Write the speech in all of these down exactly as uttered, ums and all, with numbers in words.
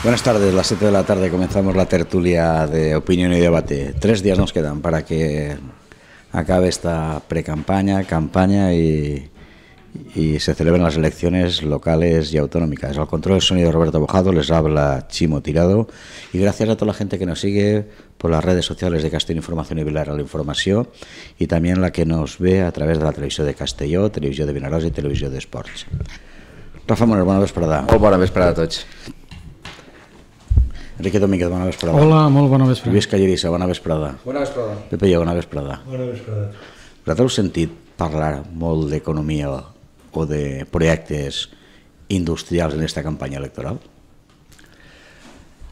Buenas tardes, las siete de la tarde comenzamos la tertulia de opinión y debate. Tres días nos quedan para que acabe esta pre-campaña, campaña y, y se celebren las elecciones locales y autonómicas. Al control del sonido Roberto Bojado, les habla Chimo Tirado y gracias a toda la gente que nos sigue por las redes sociales de Castelló Información y Vilar a la Informació y también la que nos ve a través de la televisió de Castelló, televisió de Vinaròs i televisió d'Esports. Rafa Moner, bona vesprada. Molt bona vesprada a tots. Enrique Domínguez, bona vesprada. Hola, molt bona vesprada. Lluís Callerissa, bona vesprada. Bona vesprada. Pepe Lleó, bona vesprada. Bona vesprada. Vosaltres heu sentit parlar molt d'economia o de projectes industrials en aquesta campanya electoral?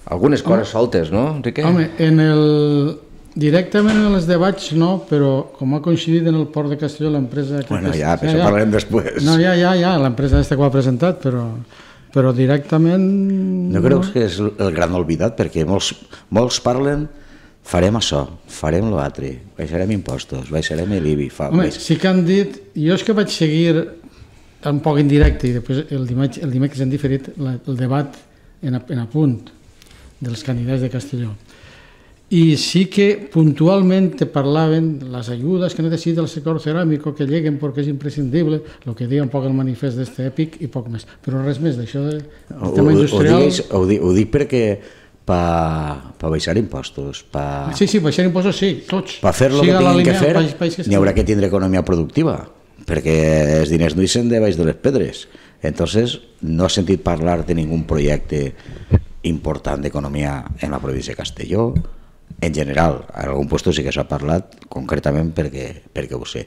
Algunes coses soltes, no, Enrique? Home, en el... directament en els debats no, però com ha coincidit en el Port de Castelló l'empresa... Bueno, ja, per això parlarem després. No, ja, ja, ja, l'empresa aquesta que ho ha presentat, però... però directament... No creus que és el gran oblidat? Perquè molts, molts parlen, farem això, farem l'altre, baixarem impostos, baixarem l'I B I... Fa, Home, baix... sí que han dit... Jo és que vaig seguir un poc indirecte i després el dimecres, el dimecres han diferit la, el debat en, a, en a punt dels candidats de Castelló. I sí que puntualment te parlaven les ajudes que necessita el sector ceràmico que lleguen perquè és imprescindible, el que deia un poc el manifest d'este èpic i poc més, però res més d'això del tema industrial. Ho, digues, ho, dic, ho dic perquè per pa baixar impostos, pa... Sí, sí, baixar impostos sí, tots. Per fer el que tinguin que fer, n'hi haurà que tindre economia productiva, perquè els diners no hi són de baix de les pedres. Entonces, no has sentit parlar de ningun projecte important d'economia en la província de Castelló. En general, en algun lloc sí que s'ha parlat concretament perquè, perquè ho sé,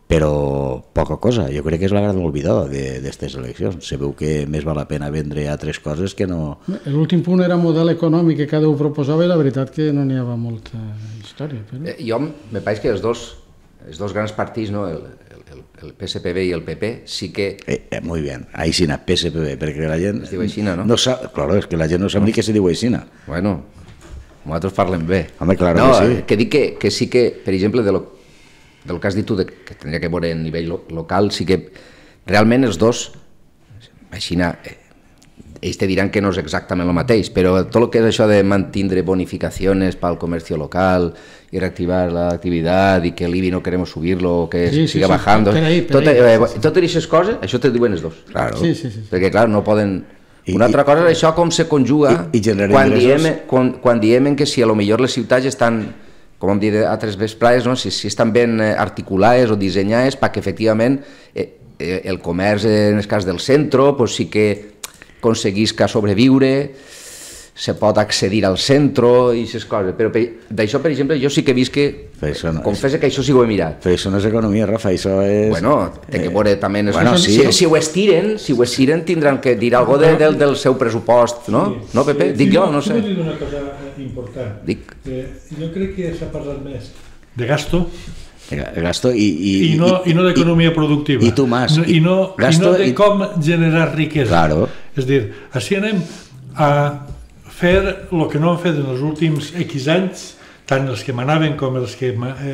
però poca cosa. Jo crec que és la gran oblidada d'aquestes eleccions. Se veu que més val la pena vendre altres coses que no... L'últim punt era model econòmic que cada un proposava i la veritat que no n'hi havia molta història. Però... Eh, jo, me pareix que els dos, els dos grans partits, no? el, el, el P S P B i el P P, sí que... Eh, eh, muy bien, Aixina, P S P B, perquè la gent... Es diu Aixina, no? no sap, claro, és que la gent no sap ni què se diu Aixina. Bueno... nosaltres parlem bé. Home, claro no, que sí. Que dic que, que sí que, per exemple, de lo, del que has dit tu, de, que tindria que veure a nivell lo, local, sí que realment els dos, així, eh, ells te diran que no és exactament el mateix, però tot el que és això de mantindre bonificacions pel comerç local i reactivar l'activitat i que l'I B I no querem subir-lo o que sí, siga sí, bajando, sí, per ahí, per tot, ahí, eh, sí, sí. Totes aquestes coses, això te diuen els dos. Claro. Sí, sí, sí. Perquè, clar, no poden... Una altra cosa és això com se conjuga I, i quan, diem, quan, quan diem que si a lo millor les ciutats estan, com hem dit altres vesprades, no? si, si estan ben articulades o dissenyades perquè efectivament eh, eh, el comerç en el cas del centre pues sí que aconseguisca sobreviure, se pot accedir al centre i aquestes coses, però d'això per exemple jo sí que he vist que, no, confessa que això sí ho he mirat. Però això no és economia, Rafa, això és... Bueno, té que veure també... Bueno, sí. si, si ho estiren, si ho estiren tindran que dir alguna cosa de, del, del seu pressupost, no? Sí, no, Pepe? Sí, Dic sí, jo, no sé. Jo vull dir una cosa important. Dic. Eh, jo crec que s'ha parlat més de gasto gasto i, i, i no, i no d'economia productiva. I tu más. I no, gasto, i no de i... com generar riquesa. Claro. És a dir, així anem a fer el que no han fet en els últims X anys, tant els que manaven com els que, eh,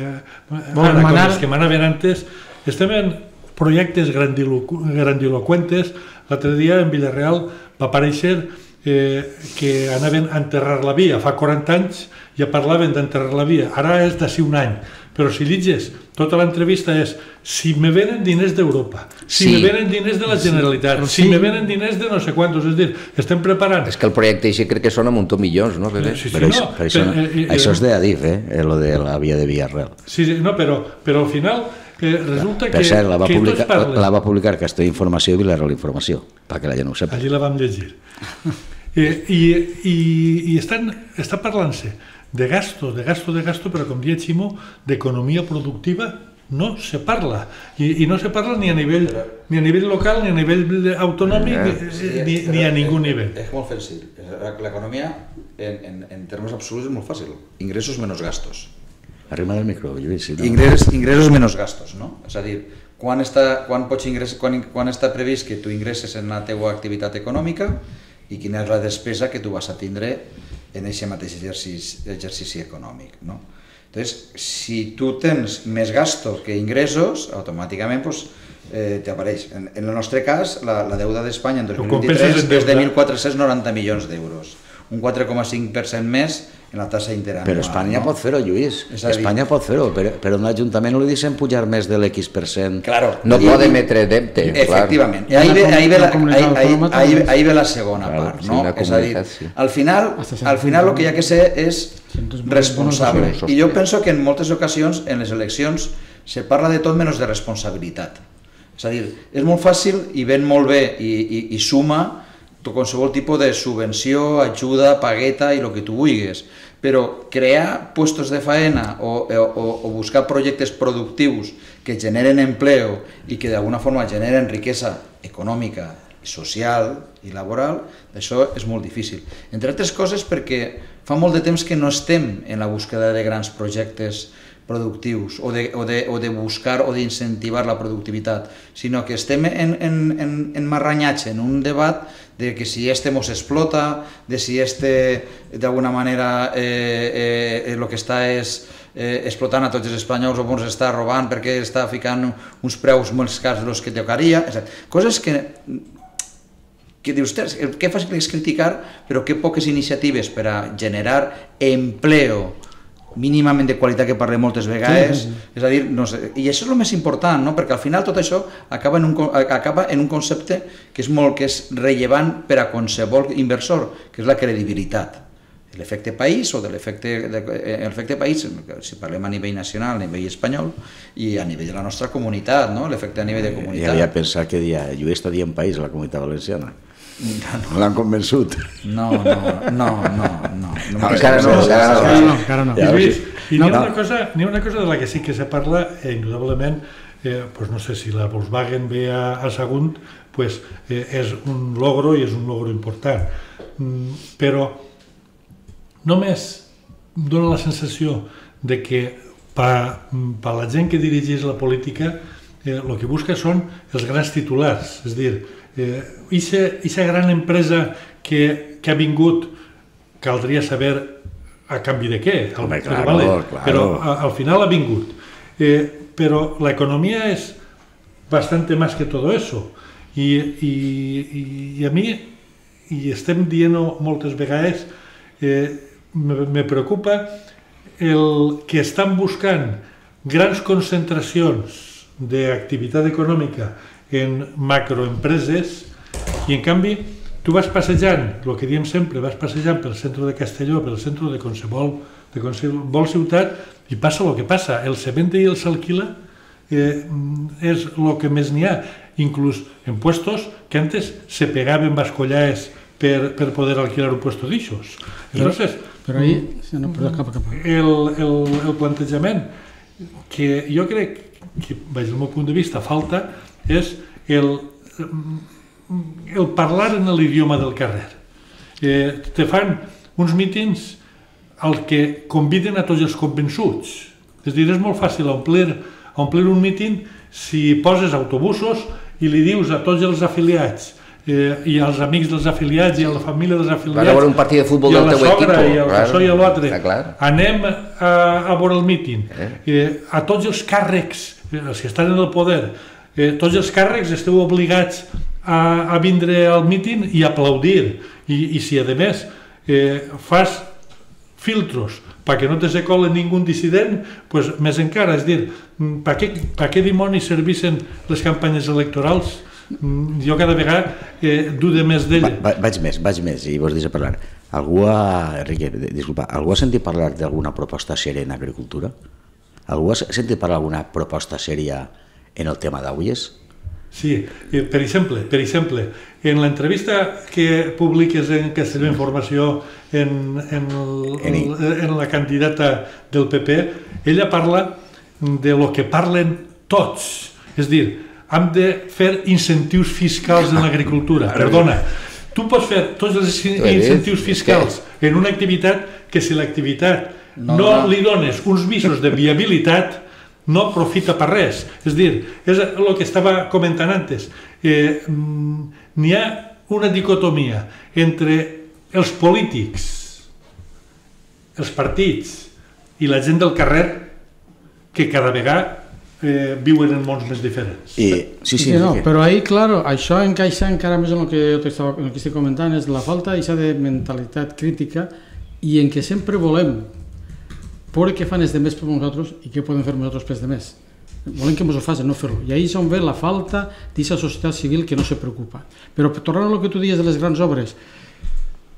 ara, com els que manaven antes, estem en projectes grandiloqu grandiloquentes. L'altre dia en Villarreal va aparèixer eh, que anaven a enterrar la via. Fa quaranta anys ja parlaven d'enterrar la via, ara és d'ací un any. Però si llitges, tota l'entrevista és si me venen diners d'Europa, si sí. me venen diners de la Generalitat, sí. si me venen diners de no sé quantos, és dir, estem preparant... És que el projecte així crec que són un munt de milions, no? Sí, sí, però no, això, però això, però, eh, eh, això és d'Adif, eh? Lo de la via de Villarreal. Sí, sí, no, però, però al final eh, resulta per que, cert, la va que publicar, tots parlen... La va publicar Castelló Informació i Vilarreal Informació, perquè la gent no ho sap. Allí la vam llegir. I, i, i, i estan, està parlant-se de gasto, de gasto, de gasto, però com dia Ximo, d'economia productiva no se parla. I, i no se parla ni a nivell ni a nivell local, ni a nivell autonòmic, eh, sí, ni, ni a ningú nivell. És molt fàcil. L'economia, en, en, en termes absoluts, és molt fàcil. Ingressos menys gastos. Arrima del micro, Lluís. Si no... Ingressos, ingressos menys gastos, no? És a dir, quan està, quan pots ingress, quan, quan està previst que tu ingresses en la teva activitat econòmica i quina és la despesa que tu vas a tindre en aquest mateix exercici, exercici econòmic, no? Entonces, si tu tens més gastos que ingressos, automàticament pues, eh, t'apareix. En, en el nostre cas, la, la deuda d'Espanya en dos mil vint-i-tres és de mil quatre-cents noranta milions d'euros. un quatre coma cinc per cent més en la tassa interanual. Però Espanya no? pot fer-ho, Lluís. Espanya pot fer-ho, però, però un ajuntament no li deixen pujar més de l'X per cent. Claro. No pot emetre deute. Efectivament. I ahí ve, ahí ve, la, ahí, ahí, ahí, ahí ve la segona claro, part, no? És a dir, al final, al final el que hi ha que ser és responsable. I jo penso que en moltes ocasions, en les eleccions, se parla de tot menys de responsabilitat. És a dir, és molt fàcil i ven molt bé i, i, i suma qualsevol tipus de subvenció, ajuda, pagueta i el que tu vulguis, però crear puestos de faena o, o, o buscar projectes productius que generen empleo i que d'alguna forma generen riquesa econòmica, social i laboral, això és molt difícil. Entre altres coses perquè fa molt de temps que no estem en la búsqueda de grans projectes productius o de, o de, o de buscar o d'incentivar la productivitat, sinó que estem en, en, en, en marranyatge, en un debat de que si este mos explota, de si este d'alguna manera eh, eh, el que està és eh, explotant a tots els espanyols o ens està robant perquè està ficant uns preus molt cars dels que tocaria, coses que que dius, que fàcil és criticar, però que poques iniciatives per a generar empleo mínimament de qualitat que parlem moltes vegades, sí, sí, sí. És a dir, no sé, i això és el més important, no? Perquè al final tot això acaba en, un, acaba en un concepte que és molt que és rellevant per a qualsevol inversor, que és la credibilitat. L'efecte país o de l'efecte l'efecte país, si parlem a nivell nacional, a nivell espanyol i a nivell de la nostra comunitat, no? L'efecte a nivell de comunitat. Ja havia pensat que dia, jo està dient país a la comunitat valenciana. No, no l'han convençut. No, no, no, no, no. Encara no, encara no. I n'hi ha una cosa, n'hi ha una cosa de la que sí que se parla, eh, indudablement, eh, pues no sé si la Volkswagen ve a, a Sagunt, pues eh, és un logro i és un logro important. Mm, però només dona la sensació de que per pa la gent que dirigeix la política eh, el que busca són els grans titulars, és a dir, aquesta eh, gran empresa que, que ha vingut caldria saber a canvi de què, al, Home, claro, vale, claro. Però a, al final ha vingut. Eh, però la economía es bastante más que todo eso. I, i, i a mi, i estem dient moltes vegades, eh, me, me preocupa el que estan buscant grans concentracions d'activitat econòmica en macroempreses i en canvi tu vas passejant, el que diem sempre, vas passejant pel centre de Castelló, pel centre de qualsevol, de qualsevol ciutat i passa el que passa, el se vende i el s'alquila eh, és el que més n'hi ha, inclús en puestos que antes se pegaven bascollaes per, per poder alquilar un puesto d'aixos. Entonces, però ahí, no, però cap, cap. El, el, el plantejament que jo crec que, des del meu punt de vista, falta és el, el parlar en l'idioma del carrer. Eh, te fan uns mítings al que conviden a tots els convençuts. És a dir, és molt fàcil omplir, omplir un míting si poses autobusos i li dius a tots els afiliats eh, i als amics dels afiliats i a la família dels afiliats a veure un partit de futbol i a del la teu sogra equip, i al claro, so i a l'altre clar. Anem a, a veure el míting eh? Eh, a tots els càrrecs els que estan en el poder eh, tots els càrrecs esteu obligats a, a vindre al míting i aplaudir i, i si a més eh, fas filtros perquè no te se cole ningú dissident, pues més encara, és dir, per què, per què dimonis servissen les campanyes electorals? Jo cada vegada eh, dude més d'ella. Va, vaig més, vaig més, i vos deixo parlar. Algú ha, Enrique, disculpa, algú ha sentit parlar d'alguna proposta sèria en agricultura? Algú ha sentit parlar d'alguna proposta sèria en el tema d'aules? Sí, per exemple, per exemple, en l'entrevista que publiques en Castelló Informació en, en, el, en la candidata del P P, ella parla de lo que parlen tots, és dir, hem de fer incentius fiscals en l'agricultura. Perdona, tu pots fer tots els incentius fiscals en una activitat que si l'activitat no, no li dones uns visos de viabilitat no profita per res. És dir, és el que estava comentant antes. Eh, n'hi ha una dicotomia entre els polítics, els partits i la gent del carrer que cada vegada eh, viuen en mons més diferents. I, sí, sí, sí, no, però ahí, claro, això encaixa encara més en el que jo t'estava, en el que estic comentant, és la falta de mentalitat crítica i en què sempre volem veure què fan els demés per nosaltres i què podem fer nosaltres per els demés. Volem que ens ho facin, no fer-ho. I ahí és on ve la falta d'aquesta societat civil que no se preocupa. Però tornant al que tu dius de les grans obres,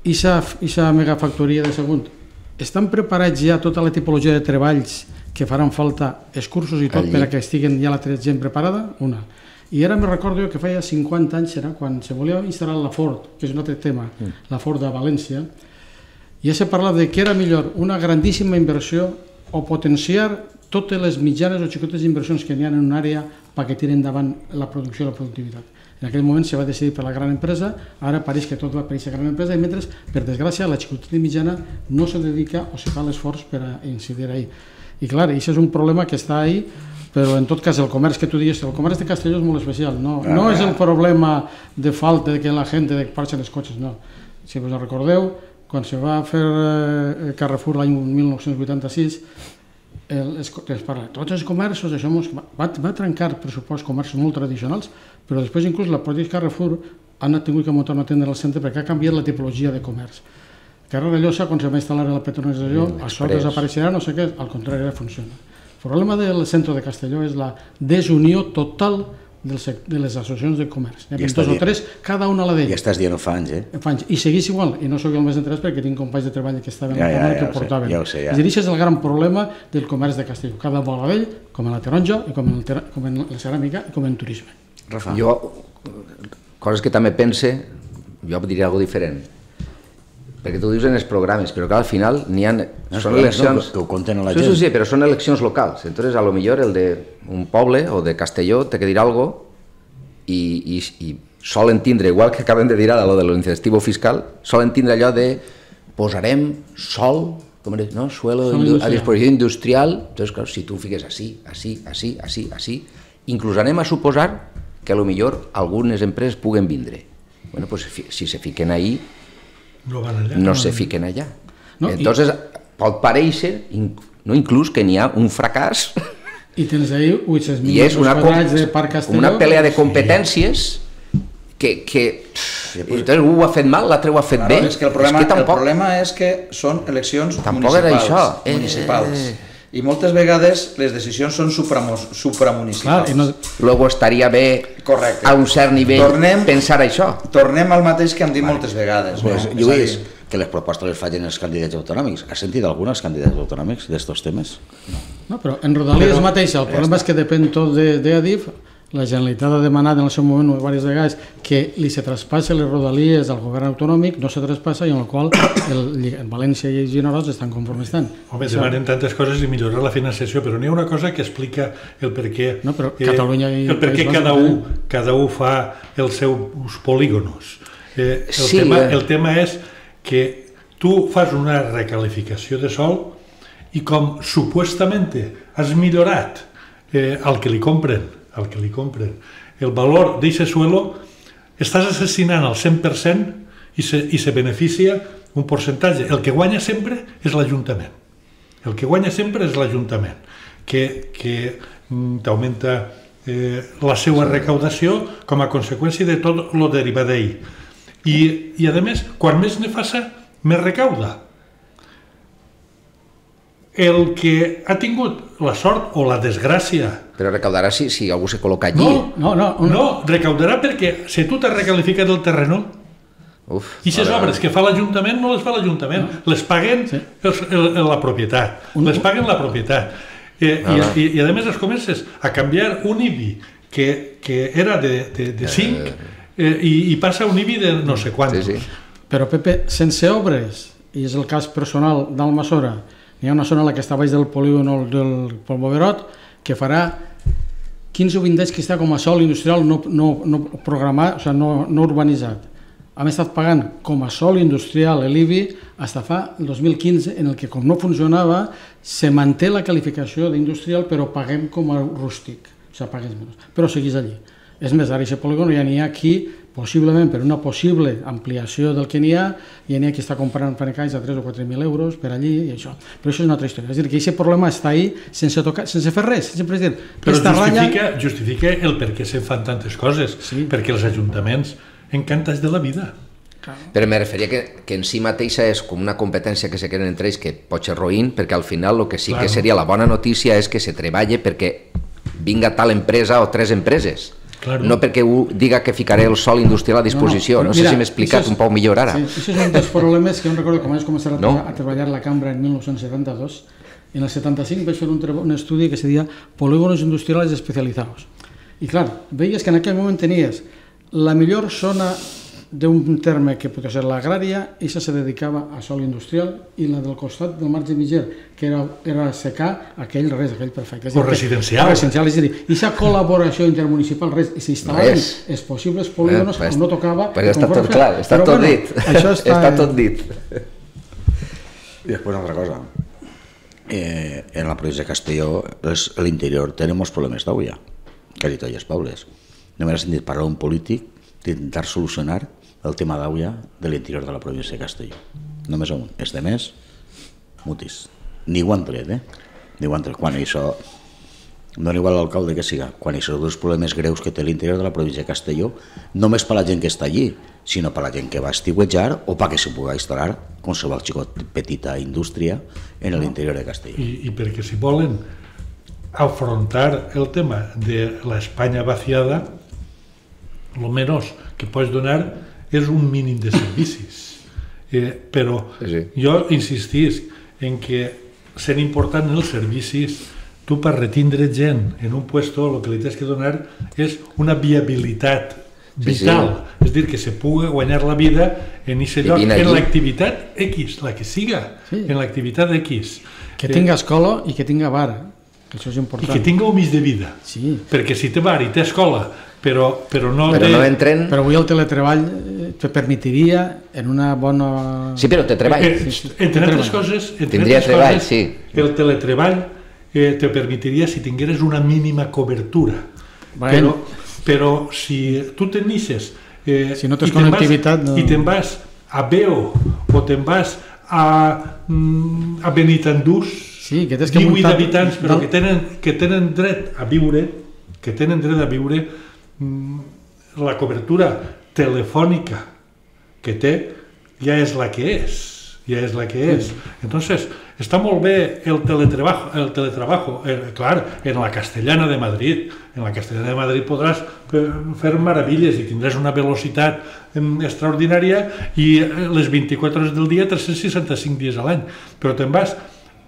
aquesta megafactoria de Sagunt, estan preparats ja tota la tipologia de treballs que faran falta, els cursos i tot, per a que estiguen ja la gent preparada? Una. I ara me recordo que feia cinquanta anys, era quan se volia instal·lar la Ford, que és un altre tema, la Ford de València, ja se parlava de que era millor una grandíssima inversió o potenciar totes les mitjanes o xicotes inversions que n'hi ha en una àrea perquè tiren endavant la producció i la productivitat. En aquell moment se va decidir per la gran empresa, ara pareix que tot va per aquesta gran empresa i mentre, per desgràcia, la xicoteta mitjana no se dedica o se fa l'esforç per a incidir ahí. I clar, això és un problema que està ahí, però en tot cas el comerç que tu dius, el comerç de Castelló és molt especial, no, no és el problema de falta de que la gent parxa els cotxes, no. Si us recordeu, quan se va fer eh, Carrefour l'any mil nou-cents vuitanta-sis, el, es, es parla, tots els comerços, això mos, va, va trencar pressupost comerços molt tradicionals, però després inclús la pròpia Carrefour han tingut que muntar una tenda al centre perquè ha canviat la tipologia de comerç. Carrer de Llosa, quan se va instal·lar a la Petronesa, això desapareixerà, no sé què, al contrari, ara funciona. El problema del centre de Castelló és la desunió total de les associacions de comerç. N'hi ha dos o tres, cada una a la d'ell. I estàs dient fa anys, eh? Fa anys. I segueix igual, i no soc el més interès perquè tinc companys de treball que estaven ja, ja, ja, que ho portaven. Ja ho sé, ja. És a dir, això és el gran problema del comerç de Castelló. Cada vol a d'ell, com en la taronja, i com en, el, com en la ceràmica, i com en turisme. Rafa. Jo, coses que també pense, jo diria alguna cosa diferent. Perquè tu dius en els programes, però que al final n'hi ha... No, són eleccions... No, que ho compten a la sí, gent. Sí, sí, però són eleccions locals. Entonces, a lo millor el d'un poble o de Castelló té que dir alguna cosa i, i, i solen tindre, igual que acabem de dir ara, lo de l'incentivo fiscal, solen tindre allò de posarem sol, com és, no? Suelo a disposició industrial. Entonces, clar, si tu ho fiques així, així, així, així, així, inclús anem a suposar que a lo millor algunes empreses puguen vindre. Bueno, pues si se fiquen ahí, no, van allà, no no se fiquen allà. No, entonces, i... pot parèixer, no, inclús que n'hi ha un fracàs. I tens ahí vuit-cents mil i és una, de Parc Castelló. Una pelea de competències que, que sí, pues, entonces un ho ha fet mal, l'altre ho ha fet claro, bé. És que el problema, és que tampoc, el problema és que són eleccions tampoc municipals. Era això. Eh, municipals. Eh, I moltes vegades les decisions són supramunicipals. No... Luego estaria bé Correcte. A un cert nivell tornem, pensar això. Tornem al mateix que hem dit moltes vegades. Pues, no? Lluís, que les propostes les facin els candidats autonòmics. Has sentit alguns candidats autonòmics d'estos temes? No. No, però en Rodalies però, mateix, el problema ja és que depèn tot de, de Adif. La Generalitat ha demanat en el seu moment diverses vegades que li se traspassa les Rodalies al govern autonòmic, no se traspassa i en el qual el, el València i Vinaròs estan conformes tant. Home, demanen tantes coses i millorar la financiació, però n'hi ha una cosa que explica el per què, no, però eh, Catalunya i el per què cada, un, cada un fa els seus polígonos. Eh, el, sí, tema, eh. el tema és que tu fas una recalificació de sòl i com supuestament has millorat eh, el que li compren el que li compren, el valor d'aquest suelo, estàs assassinant el cent per cent i se, i se beneficia un percentatge. El que guanya sempre és l'Ajuntament. El que guanya sempre és l'Ajuntament, que, que t'augmenta eh, la seva recaudació com a conseqüència de tot el derivat d'ahir. I, I, a més, quan més ne faça, més recauda. El que ha tingut la sort o la desgràcia... Però recaudarà si, si algú se col·loca allí. No, no, no, no. no recaudarà perquè si tu t'has recalificat el terreno, Uf, i aquestes obres que fa l'Ajuntament no les fa l'Ajuntament, no. les paguen sí. el, el, la propietat, un... les paguen la propietat. Eh, no, no. I, i, I a més es comences a canviar un I B I que, que era de, de, de cinc eh, i, i passa un I B I de no sé quantos. Sí, sí. Però Pepe, sense obres, i és el cas personal d'Almassora, hi ha una zona a la que està baix del polígon del Polvoverot que farà quinze o vint anys que està com a sòl industrial no, no, no programat, o sigui, no, no urbanitzat. Hem estat pagant com a sòl industrial l'I B I fins fa el dos mil quinze, en el que com no funcionava, se manté la qualificació d'industrial però paguem com a rústic, o sigui, pagues menys, però seguís allí. És més, ara aquest polígon ja n'hi ha aquí, possiblement per una possible ampliació del que n'hi ha, ja n'hi ha qui està comprant panecalls a tres o quatre mil euros per allí i això. Però això és una altra història. És a dir, que aquest problema està ahí sense, tocar, sense fer res. Sempre és dir, però justifica, ratlla... justifica el per què se'n fan tantes coses, sí. Perquè els ajuntaments encantats de la vida. Però me referia que, que en si mateixa és com una competència que se queden entre ells que pot ser roïn, perquè al final el que sí claro. Que seria la bona notícia és que se treballa perquè vinga tal empresa o tres empreses. Claro. No perquè diga que ficaré el sòl industrial a disposició. No, no, no mira, sé si m'he explicat és, un poc millor ara. Sí, això és un dels problemes que jo recordo quan vaig començar a, no? a treballar a la cambra en mil nou-cents setanta-dos. En el setanta-cinc vaig fer un, un estudi que se deia Polígonos Industriales Especializados. I clar, veies que en aquell moment tenies la millor zona d'un terme que podia ser l'agrària, i això se dedicava a sòl industrial, i la del costat del marge mitger, que era, era secar aquell res, aquell perfecte. O residencial. Residencial, és a dir, aquesta col·laboració intermunicipal, res, i s'instal·laven els possibles polígonos on no tocava... Però està tot clar, està tot dit. Està tot dit. I després una altra cosa. Eh, en la província de Castelló, l'interior, tenim molts problemes d'aigua, quasi tots els pobles. No m'he sentit parlar d'un polític d'intentar solucionar el tema d'aigua de l'interior de la província de Castelló. Només un. Els de més, mutis. Ni ho han tret, eh? Ni ho han tret. Quan això, no igual l'alcalde que siga, quan hi són dos problemes greus que té l'interior de la província de Castelló, només per la gent que està allí, sinó per la gent que va estiuetjar o perquè se pugui instal·lar qualsevol xicot petita indústria en l'interior de Castelló. I, I perquè si volen afrontar el tema de l'Espanya vaciada, el menys que pots donar és un mínim de servicis. Eh, però sí. Jo insistís en que sent important els servicis, tu per retindre gent en un puesto el que li tens que donar és una viabilitat vital, sí, sí. És dir, que se pugui guanyar la vida en aquest lloc, en l'activitat X, la que siga, sí. En l'activitat X. Que tinga escola i que tinga bar, que això és important. I que tinga un mig de vida, sí. Perquè si té bar i té escola, però, però no però té... no entren... Però avui el teletreball te permetiria en una bona... Sí, però té treball. Eh, sí, sí. Entre altres coses, entre tindria altres treball, coses, sí. El teletreball eh, te permitiria si tingueres una mínima cobertura. Bueno. Però, però si tu tenixes... Eh, si no tens connectivitat... No... I te'n vas a Beo o te'n vas a, a Benitandús, sí, que tens que divuit muntar... habitants, però que tenen, que tenen dret a viure, que tenen dret a viure, la cobertura telefònica que té ja és la que és, ja és la que és. Entonces, està molt bé el teletrabajo, el teletrabajo, eh, clar, en la Castellana de Madrid, en la Castellana de Madrid podràs fer meravilles i tindràs una velocitat extraordinària i les vint-i-quatre hores del dia, tres-cents seixanta-cinc dies a l'any, però te'n vas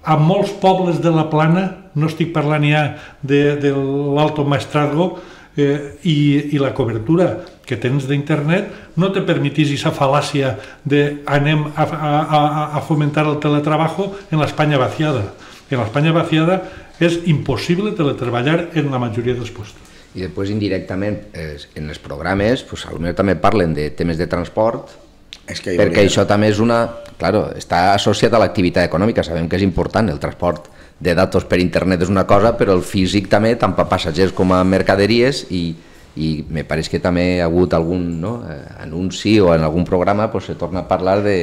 a molts pobles de la Plana, no estic parlant ja de, de l'Alto Maestrazgo, eh, i, i la cobertura que tens d'internet no te permetís aquesta fal·làcia de anem a, a, a fomentar el teletrabajo en l'Espanya vaciada. En l'Espanya vaciada és impossible teletreballar en la majoria dels puestos. I després indirectament eh, en els programes pues, potser també parlen de temes de transport, és que perquè hauria... això també és una... Claro, està associat a l'activitat econòmica, sabem que és important el transport de datos per internet és una cosa, però el físic també, tant per passatgers com a mercaderies, i, i me pareix que també ha hagut algun no, anunci o en algun programa pues, se torna a parlar de,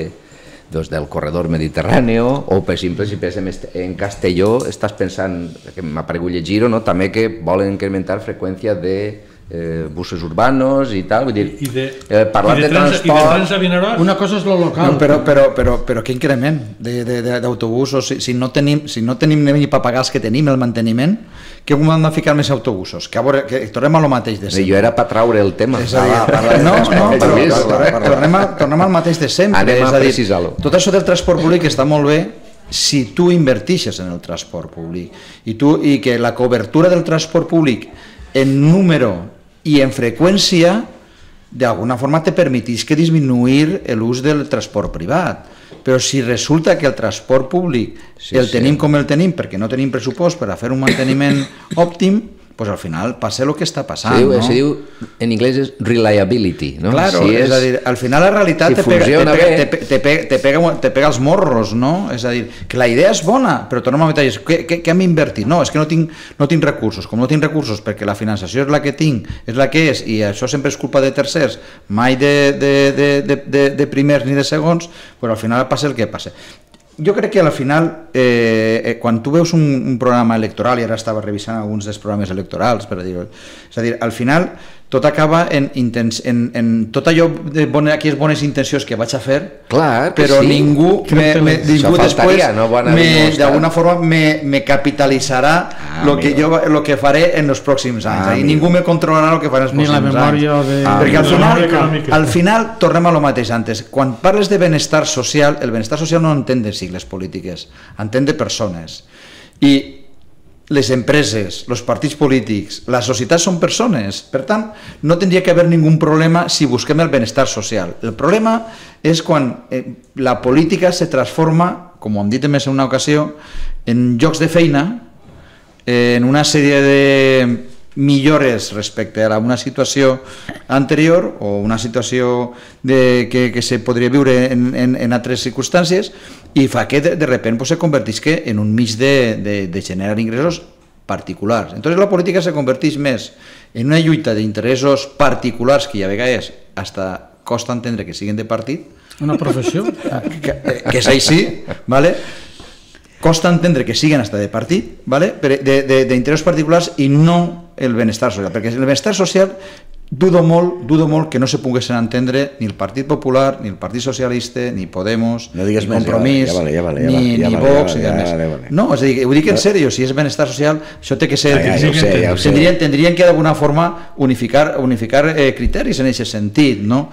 doncs, del corredor mediterrani, o per exemple, si pensem en Castelló, estàs pensant, que m'ha paregut llegir-ho, no? També que volen incrementar freqüència de eh, buses urbanos i tal, vull dir, I de, eh, parlar i de, de trans, transport... I de trans a Vinaròs? Una cosa és lo local. No, però, però, però, però què increment d'autobusos? Si, si, no tenim, si no tenim ni per pagar els que tenim, el manteniment, que com hem de ficar més autobusos? Que, a veure, que tornem a lo mateix de sempre. Jo era per traure el tema. És a dir, ah, no, no, però, però tornem, a, tornem al mateix de sempre. Anem és a, a dir, precisar-lo. Tot això del transport públic està molt bé si tu invertixes en el transport públic i, tu, i que la cobertura del transport públic en número i en freqüència d'alguna forma te permetís que disminuir l'ús del transport privat. Però si resulta que el transport públic sí, el tenim sí. com el tenim perquè no tenim pressupost per a fer un manteniment òptim, pues al final passa el que està passant. Se diu, no? se diu en anglès és reliability, no? Claro, si és, és a dir, al final la realitat si te, pega, te, pega, te, te, pega, te, pega, te pega els morros, no? És a dir, que la idea és bona, però tornem a metallar, què, què, què hem invertit? No, és que no tinc, no tinc recursos, com no tinc recursos perquè la finançació és la que tinc, és la que és, i això sempre és culpa de tercers, mai de, de, de, de, de, de primers ni de segons, però al final passa el que passa. Jo crec que al final, eh, quan tu veus un, un programa electoral, i ara estava revisant alguns dels programes electorals, per dir-ho, és a dir, al final tot acaba en, intens, en, en tot allò de bones, aquelles bones intencions que vaig a fer, clar, però sí. ningú, me, me, ningú després no d'alguna forma me, me capitalitzarà ah, lo, que jo, lo que faré en els pròxims anys, ah, i ningú me controlarà el que faré en els Ni pròxims anys. Ni la memòria de... Ah, perquè al final, al final tornem a lo mateix antes. Quan parles de benestar social, el benestar social no entén de sigles polítiques, entén de persones. I les empreses, els partits polítics, la societat són persones, per tant, no tindria que haver ningú problema si busquem el benestar social. El problema és quan eh, la política se transforma, com ho hem dit més en una ocasió, en llocs de feina, eh, en una sèrie de millores respecte a una situació anterior o una situació de, que, que se podria viure en, en, en altres circumstàncies, i fa que de, de repente pues, se convertisca en un mig de, de, de generar ingressos particulars. Entonces la política se converteix més en una lluita d'interessos particulars que a vegades hasta costa entendre que siguin de partit. Una professió. Que, que és així, ¿vale? Costa entendre que siguin hasta de partit, ¿vale? D'interessos particulars i no el benestar social, perquè el benestar social dudo molt, dudo molt que no se poguessin entendre ni el Partit Popular, ni el Partit Socialista, ni Podemos, no ni Compromís, ja vale, ja vale, ja ni, vale, ja ni vale, Vox, ja ni vale, més. ja vale. No, és a dir, ho dic en sèrio, si és benestar social, això té que ser... Ja, ja, ja sé, ja tindrien, tindrien que d'alguna forma unificar, unificar eh, criteris en aquest sentit, no?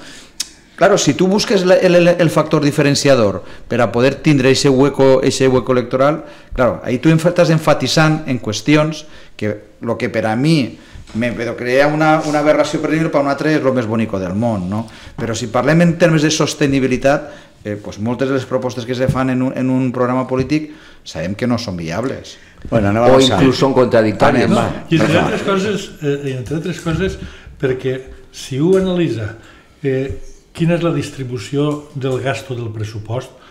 Claro, si tu busques el, el, el factor diferenciador per a poder tindre ese hueco, ese hueco electoral, claro, ahí tu estàs enfatitzant en qüestions que lo que per a mi me crea una, una aberració per dir, per un altre és el més bonic del món, no? Però si parlem en termes de sostenibilitat, eh, pues moltes de les propostes que se fan en un, en un programa polític sabem que no són viables. Bueno, o inclús són contradictòries. No, i entre altres coses, eh, entre altres coses perquè si ho analitza eh, quina és la distribució del gasto del pressupost,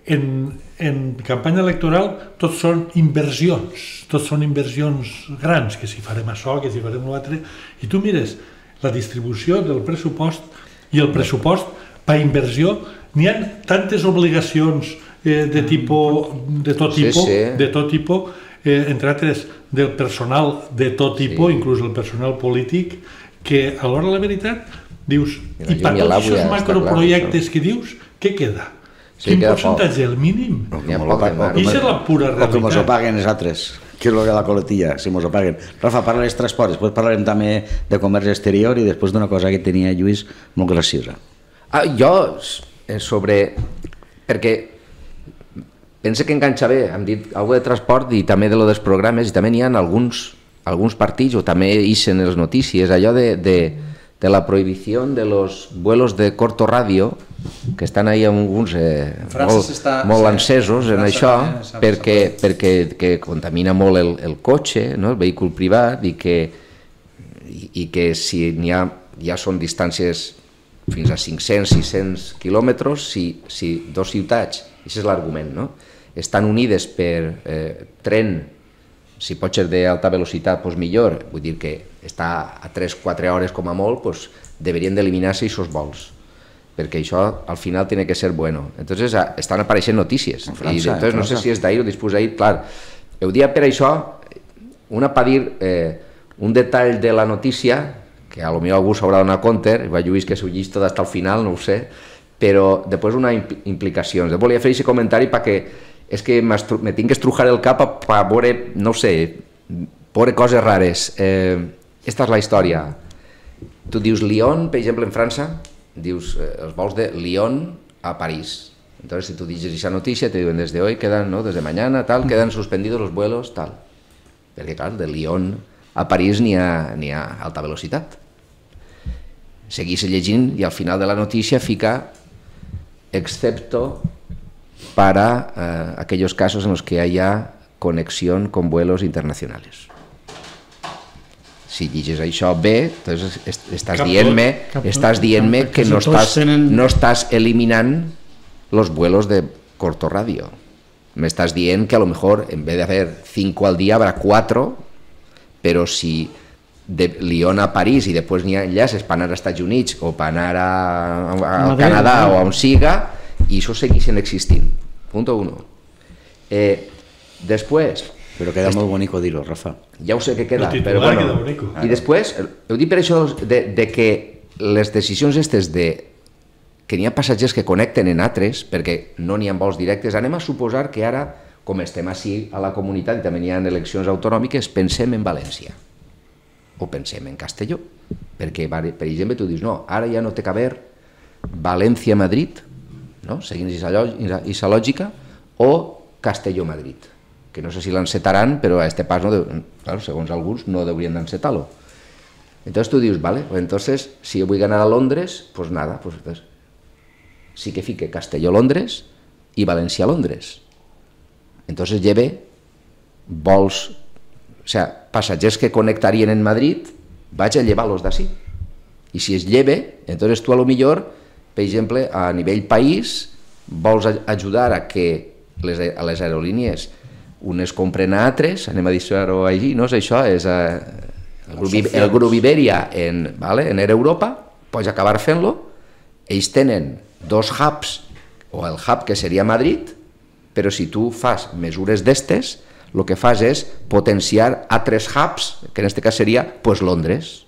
en, en campanya electoral tots són inversions, tots són inversions grans, que si farem això, que si farem l'altre, i tu mires la distribució del pressupost i el pressupost per inversió, n'hi ha tantes obligacions eh, de, tipus, de tot tipus, sí, sí. de tot tipus eh, entre altres del personal de tot tipus, sí. inclús el personal polític, que a l'hora de la veritat dius, i per tots aquests macroprojectes que dius, què queda? Sí, quin percentatge? El mínim? O que mos és la pura realitat. O que mos ho paguen els altres, que és el que la coletilla, si mos ho paguen. Rafa, parla dels transports, després parlarem també de comerç exterior i després d'una cosa que tenia Lluís molt graciosa. Ah, jo, sobre... perquè penso que enganxa bé, hem dit alguna de transport i també de lo dels programes, i també n'hi ha alguns, alguns partits, o també ixen les notícies, allò de... de de la prohibició de los vuelos de corto radio, que estan ahí alguns eh, molt, està, molt encesos en això, perquè, perquè que contamina molt el, el cotxe, no? El vehícul privat, i que, i, i que si n'hi ha, ja són distàncies fins a cinc-cents, sis-cents quilòmetres, si, si dos ciutats, això és l'argument, no? Estan unides per eh, tren, si pot ser d'alta velocitat, doncs millor, vull dir que està a tres o quatre hores com a molt, doncs deberien d'eliminar-se aquests vols, perquè això al final tiene que ser bueno. Entonces estan apareixent notícies, i entonces no sé si és d'ahir o després d'ahir, clar, ho dia per això, una per dir eh, un detall de la notícia, que a lo millor algú s'haurà donat compte, va Lluís que s'ho llis tot fins al final, no ho sé, però després una implicació. Volia fer aquest comentari perquè és que me tinc que estrujar el cap per veure, no sé, veure coses rares. Eh, esta és la història. Tu dius Lyon, per exemple, en França, dius eh, els vols de Lyon a París. Entonces, si tu dices esa noticia, te diuen desde hoy quedan, ¿no? Desde mañana, tal, quedan suspendidos los vuelos, tal. Perquè, clar, de Lyon a París n'hi ha, n'hi ha alta velocitat. Seguís llegint i al final de la notícia fica excepto para eh, aquellos casos en los que haya conexión con vuelos internacionales. si llegis això bé, doncs estàs dient-me estàs dient-me que no estàs, no estàs eliminant los vuelos de corto radio. Me estás dient que a lo mejor en vez de hacer cinco al día habrá cuatro, pero si de Lyon a París y después n'hi ha enllaces per anar als Estats Units o per anar a, a, al Canadà o a on siga, i això segueixen existint. Punto uno. Eh, després... Però queda molt bonico dir-ho, Rafa. Ja ho sé que queda, però bueno. I després, ho dic per això de, de que les decisions aquestes de que n'hi ha passatgers que connecten en altres, perquè no n'hi ha vols directes, anem a suposar que ara, com estem així a la comunitat i també n'hi ha eleccions autonòmiques, pensem en València o pensem en Castelló, perquè, per exemple, tu dius, no, ara ja no té que haver València-Madrid, no? Seguint aquesta lògica, o Castelló-Madrid, que no sé si l'encetaran, però a este pas, no deu, claro, segons alguns, no deurien d'encetar-lo. Entonces tu dius, vale, pues entonces, si jo vull anar a Londres, pues nada, pues entonces, sí que fique Castelló-Londres i València-Londres. Entonces lleve vols, o sea, passatgers que connectarien en Madrid, vaig a llevar-los d'ací. I si es lleve, entonces tu a lo millor, per exemple, a nivell país, vols ajudar a que les, a les aerolínies unes compren a altres, anem a dir-ho així, no és això, és eh, el, grup, el grup Iberia en, vale, en Air Europa, pots acabar fent-lo, ells tenen dos hubs, o el hub que seria Madrid, però si tu fas mesures d'estes, el que fas és potenciar altres hubs, que en aquest cas seria pues, Londres,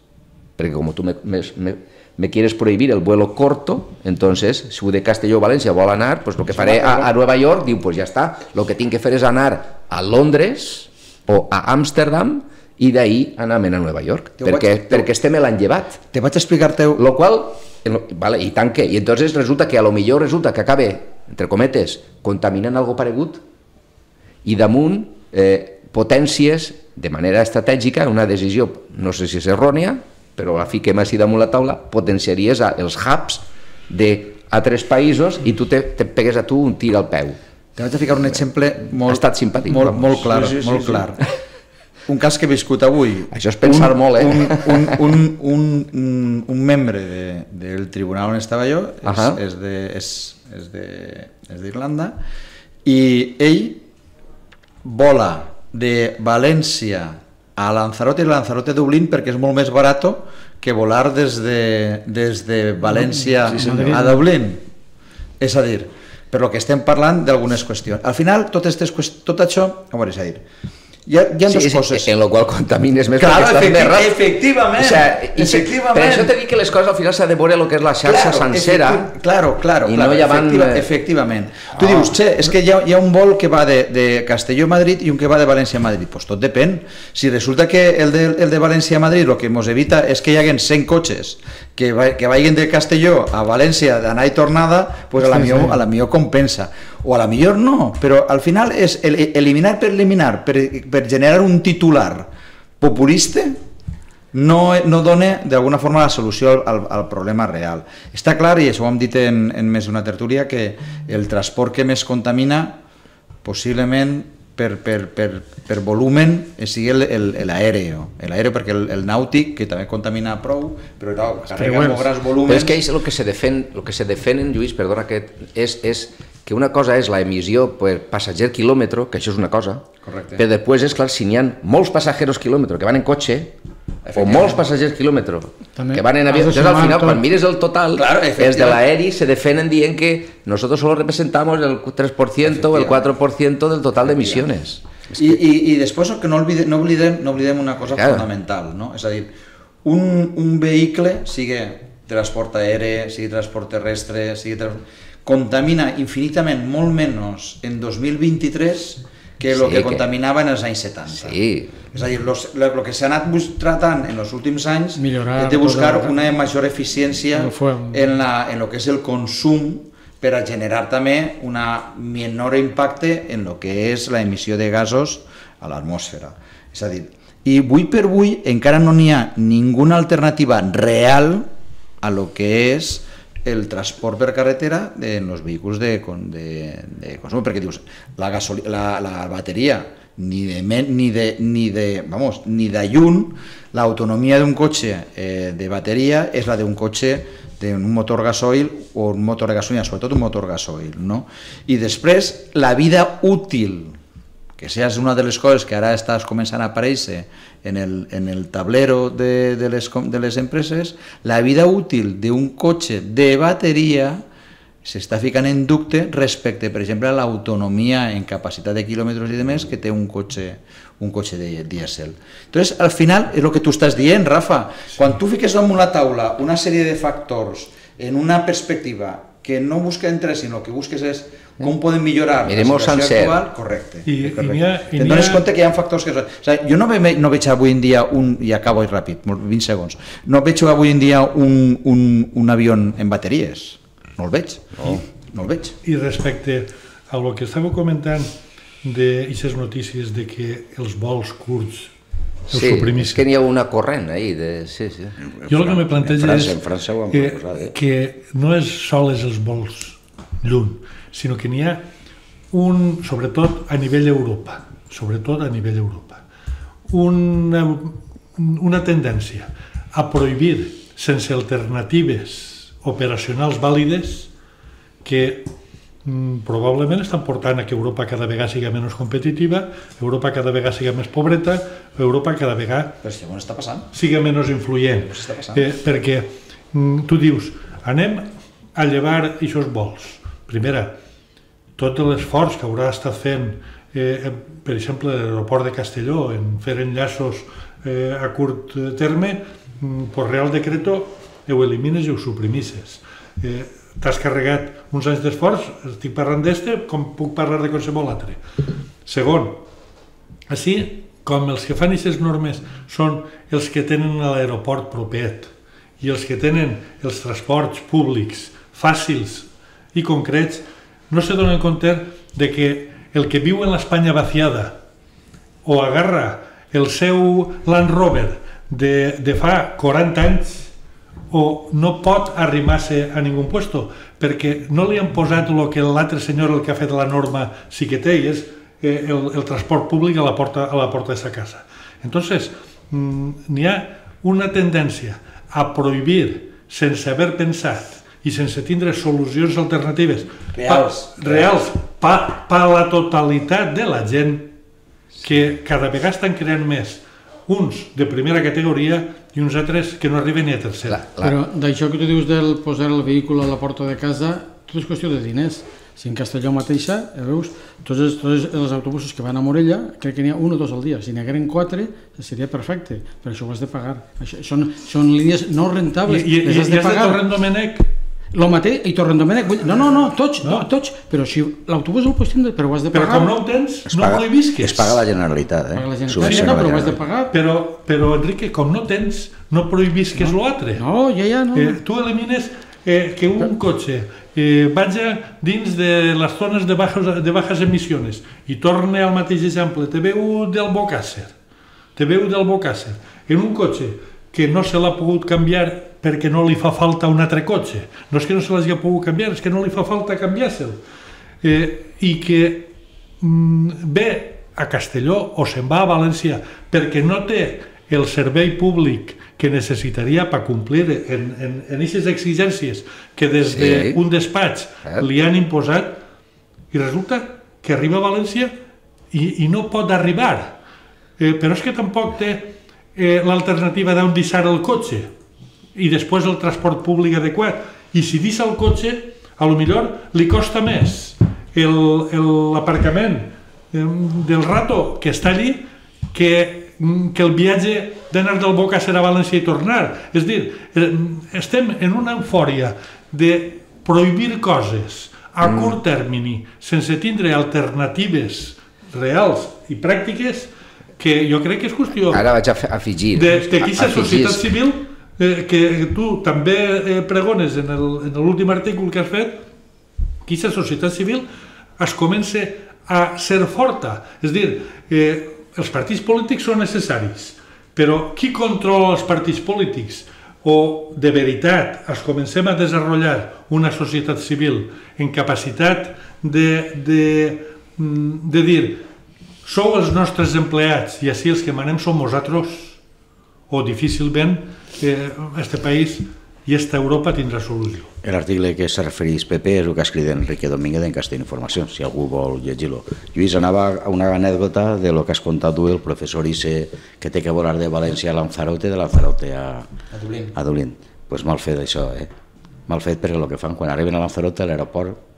perquè com tu me, me, me, me quieres prohibir el vuelo corto, entonces, si de Castelló a València vol anar, pues lo que faré a, a Nueva York, diu, pues ja està, lo que tinc que fer és anar a Londres o a Amsterdam i d'ahí anar a Nueva York, perquè, vaig, perquè este me l'han llevat. Te vaig explicar-te... Lo qual, vale, i tant que, i entonces resulta que a lo millor resulta que acabe, entre cometes, contaminant algo paregut i damunt eh, potències de manera estratègica, una decisió, no sé si és errònia, però la fiquem així damunt la taula, potenciaries els hubs d'altres països i tu te, te pegues a tu un tir al peu. Te vaig a ficar un exemple molt, ha estat simpàtic, molt, molt clar, sí, sí, molt sí, clar. Sí. Un cas que he viscut avui. Això és pensar un, molt, eh? Un, un, un, un, un membre de, del tribunal on estava jo és, uh -huh. és, de, és, és, de, és d'Irlanda i ell vola de València a Lanzarote i Lanzarote a Dublín perquè és molt més barat que volar des de, des de València sí, a Dublín. És a dir, per lo que estem parlant d'algunes qüestions. Al final, tot, estes, tot això, com és a dir, hi ha, hi ha sí, dues coses. En lo qual contamines més claro, perquè estàs més ràpid. Efectivament, o sea, efectivament. Per això t'he dit que les coses al final s'ha de veure el que és la xarxa claro, sencera efecti claro, claro, i claro, no hi van... efectiva, efectivament. Tu oh. dius, che, és que hi ha, hi ha un vol que va de, de Castelló a Madrid i un que va de València a Madrid. Pues tot depèn. Si resulta que el de, el de València a Madrid el que ens evita és que hi haguen cent cotxes que, va, que vagin de Castelló a València d'anar i tornada, pues a la, sí, millor, sí. a la millor compensa. O a la millor no, però al final és el, eliminar per eliminar, per, per generar un titular populista, no, no dona d'alguna forma la solució al, al problema real. Està clar, i això ho hem dit en, en més d'una tertúlia, que el transport que més contamina possiblement per, per, per, per volumen sigui l'aèreo, l'aèreo perquè el, el nàutic, que també contamina prou, però no, carrega molt grans volúmens. Però és que és el que se defèn, el que se defenen, Lluís, perdona, que és, és que una cosa és la emissió per passatger quilòmetre, que això és una cosa, correcte. Però després és clar, si n'hi ha molts passatgers quilòmetre que van en cotxe, o molts passatgers quilòmetre que van en avió, entonces al final, tot. Quan mires el total, claro, els de l'aeri se defenen dient que nosotros solo representamos el tres por ciento o el quatre por ciento del total d'emissions. I, i, I després que no oblidem, no oblidem, no oblidem una cosa claro. Fundamental, no? És a dir, un, un vehicle, sigui transport aeri, sigui transport terrestre, sigui transport... contamina infinitament molt menys en dos mil vint-i-tres que el sí, que, que contaminava en els anys setanta. Sí. És a dir, el que s'ha anat tratant en els últims anys és de buscar una major eficiència en, la, en el que és el consum per a generar també un menor impacte en el que és la emissió de gasos a l'atmosfera. És a dir, i avui per avui encara no n'hi ha ninguna alternativa real a lo que és el transport per carretera en els vehicles de, de, de consum, perquè dius, la, gasoli, la, la bateria ni de, ni de, ni de, vamos, ni de lluny, l'autonomia d'un cotxe eh, de bateria és la d'un cotxe d'un motor gasoil o un motor de gasolina, sobretot un motor gasoil, no? I després, la vida útil, que això és una de les coses que ara estàs començant a aparèixer en el, en el tablero de, de, les, de les empreses, la vida útil d'un cotxe de bateria s'està ficant en dubte respecte, per exemple, a l'autonomia en capacitat de quilòmetres i de més que té un cotxe, un cotxe de dièsel. Entonces, al final, és el que tu estàs dient, Rafa, quan tu fiques damunt la taula una sèrie de factors en una perspectiva que no busca entre, sinó que busques és com podem millorar la situació actual, correcte. I, correcte. I ha, i Te'n dones compte que hi ha factors que... O sigui, jo no, ve, no veig avui en dia un... i acabo ràpid, vint segons. No veig avui en dia un, un, un avió en bateries. No el veig. No, no el veig. I respecte a el que estàveu comentant d'aquestes notícies de que els vols curts els sí, suprimissin. És que n'hi ha una corrent ahí. De... Sí, sí. Jo el que me plantejo és en França ho han que, proposat, eh? que no és sols els vols lluny, sinó que n'hi ha un, sobretot a nivell Europa, sobretot a nivell Europa, una, una tendència a prohibir sense alternatives operacionals vàlides que mm, probablement estan portant a que Europa cada vegada sigui menys competitiva, Europa cada vegada sigui més pobreta, Europa cada vegada Però si està passant. sigui menys influent. Però si està passant. Eh, perquè mm, tu dius, anem a llevar aquests vols. Primera, tot l'esforç que haurà estat fent, eh, per exemple, l'aeroport de Castelló, en fer enllaços eh, a curt terme, mm, per Real Decreto, ho elimines i ho suprimisses. Eh, T'has carregat uns anys d'esforç, estic parlant d'este, com puc parlar de qualsevol altre. Segon, així, com els que fan aquestes normes són els que tenen l'aeroport propet i els que tenen els transports públics fàcils i concrets, no se donen compte de que el que viu en l'Espanya vaciada o agarra el seu Land Rover de, de fa quaranta anys o no pot arrimar-se a ningú puesto perquè no li han posat el que l'altre senyor, el que ha fet la norma, sí que té, i és eh, el, el transport públic a la porta, a la porta de sa casa. Entonces, mm, n'hi ha una tendència a prohibir sense haver pensat i sense tindre solucions alternatives reals, pa, reals per pa la totalitat de la gent, que cada vegada estan creant més uns de primera categoria i uns altres que no arriben ni a tercera. La, la... Però d'això que tu dius del posar el vehicle a la porta de casa, tot és qüestió de diners. Si en Castelló mateixa, ja veus, tots els, tots els autobusos que van a Morella, crec que n'hi ha un o dos al dia. Si n'hi hagueren quatre, seria perfecte, però això ho has de pagar. Això, són, són línies no rentables, I, i, les has de i has pagar. de Torrent Domènec? Lo mateix, i Torrent Domènec, no, no, no, tots, no. tots, però si l'autobús el pots tindre, però ho has de pagar. Però com no ho tens, Es no paga, ho visques. es paga la Generalitat, eh? Paga la Subvenciona Generalitat, no, la però ho has de Generalitat. pagar. Però, però Enrique, com no tens, no prohibisques no. l'altre. No, ja, ja, no. Eh, tu elimines eh, que un cotxe eh, vagi dins de les zones de bajas, de bajas emissions i torne al mateix exemple. Te veu del Bocàsser, te veu del Bocàsser, en un cotxe que no se l'ha pogut canviar perquè no li fa falta un altre cotxe. No és que no se l'hagi pogut canviar, és que no li fa falta canviar-se'l. Eh, I que mm, ve a Castelló o se'n va a València perquè no té el servei públic que necessitaria per complir en, en, en aquestes exigències que des d'un sí. despatx li han imposat, i resulta que arriba a València i, i no pot arribar. Eh, però és que tampoc té eh, l'alternativa d'on deixar el cotxe i després el transport públic adequat. I si deixa el cotxe, a lo millor li costa més l'aparcament del rato que està allí que, que el viatge d'anar del Bocàsser a València i tornar. És a dir, estem en una eufòria de prohibir coses a curt termini sense tindre alternatives reals i pràctiques que jo crec que és qüestió Ara vaig a afegir de que aquesta societat civil eh, que tu també eh, pregones en l'últim article que has fet, que aquesta societat civil es comença a ser forta. És a dir, eh, els partits polítics són necessaris, però qui controla els partits polítics? O de veritat es comencem a desenvolupar una societat civil en capacitat de, de, de dir sou els nostres empleats i així els que manem som nosaltres, o difícilment aquest país i aquesta Europa tindrà solució. L'article que se refereix P P és el que ha escrit Enrique Domínguez en Castell Informació, si algú vol llegir-lo. Lluís, anava a una anècdota de lo que has contat tu, el professor Isse, que té que volar de València a Lanzarote, de Lanzarote a, a Dublín. Doncs pues mal fet això, eh? Mal fet perquè el que fan, quan arriben a Lanzarote, a l'aeroport,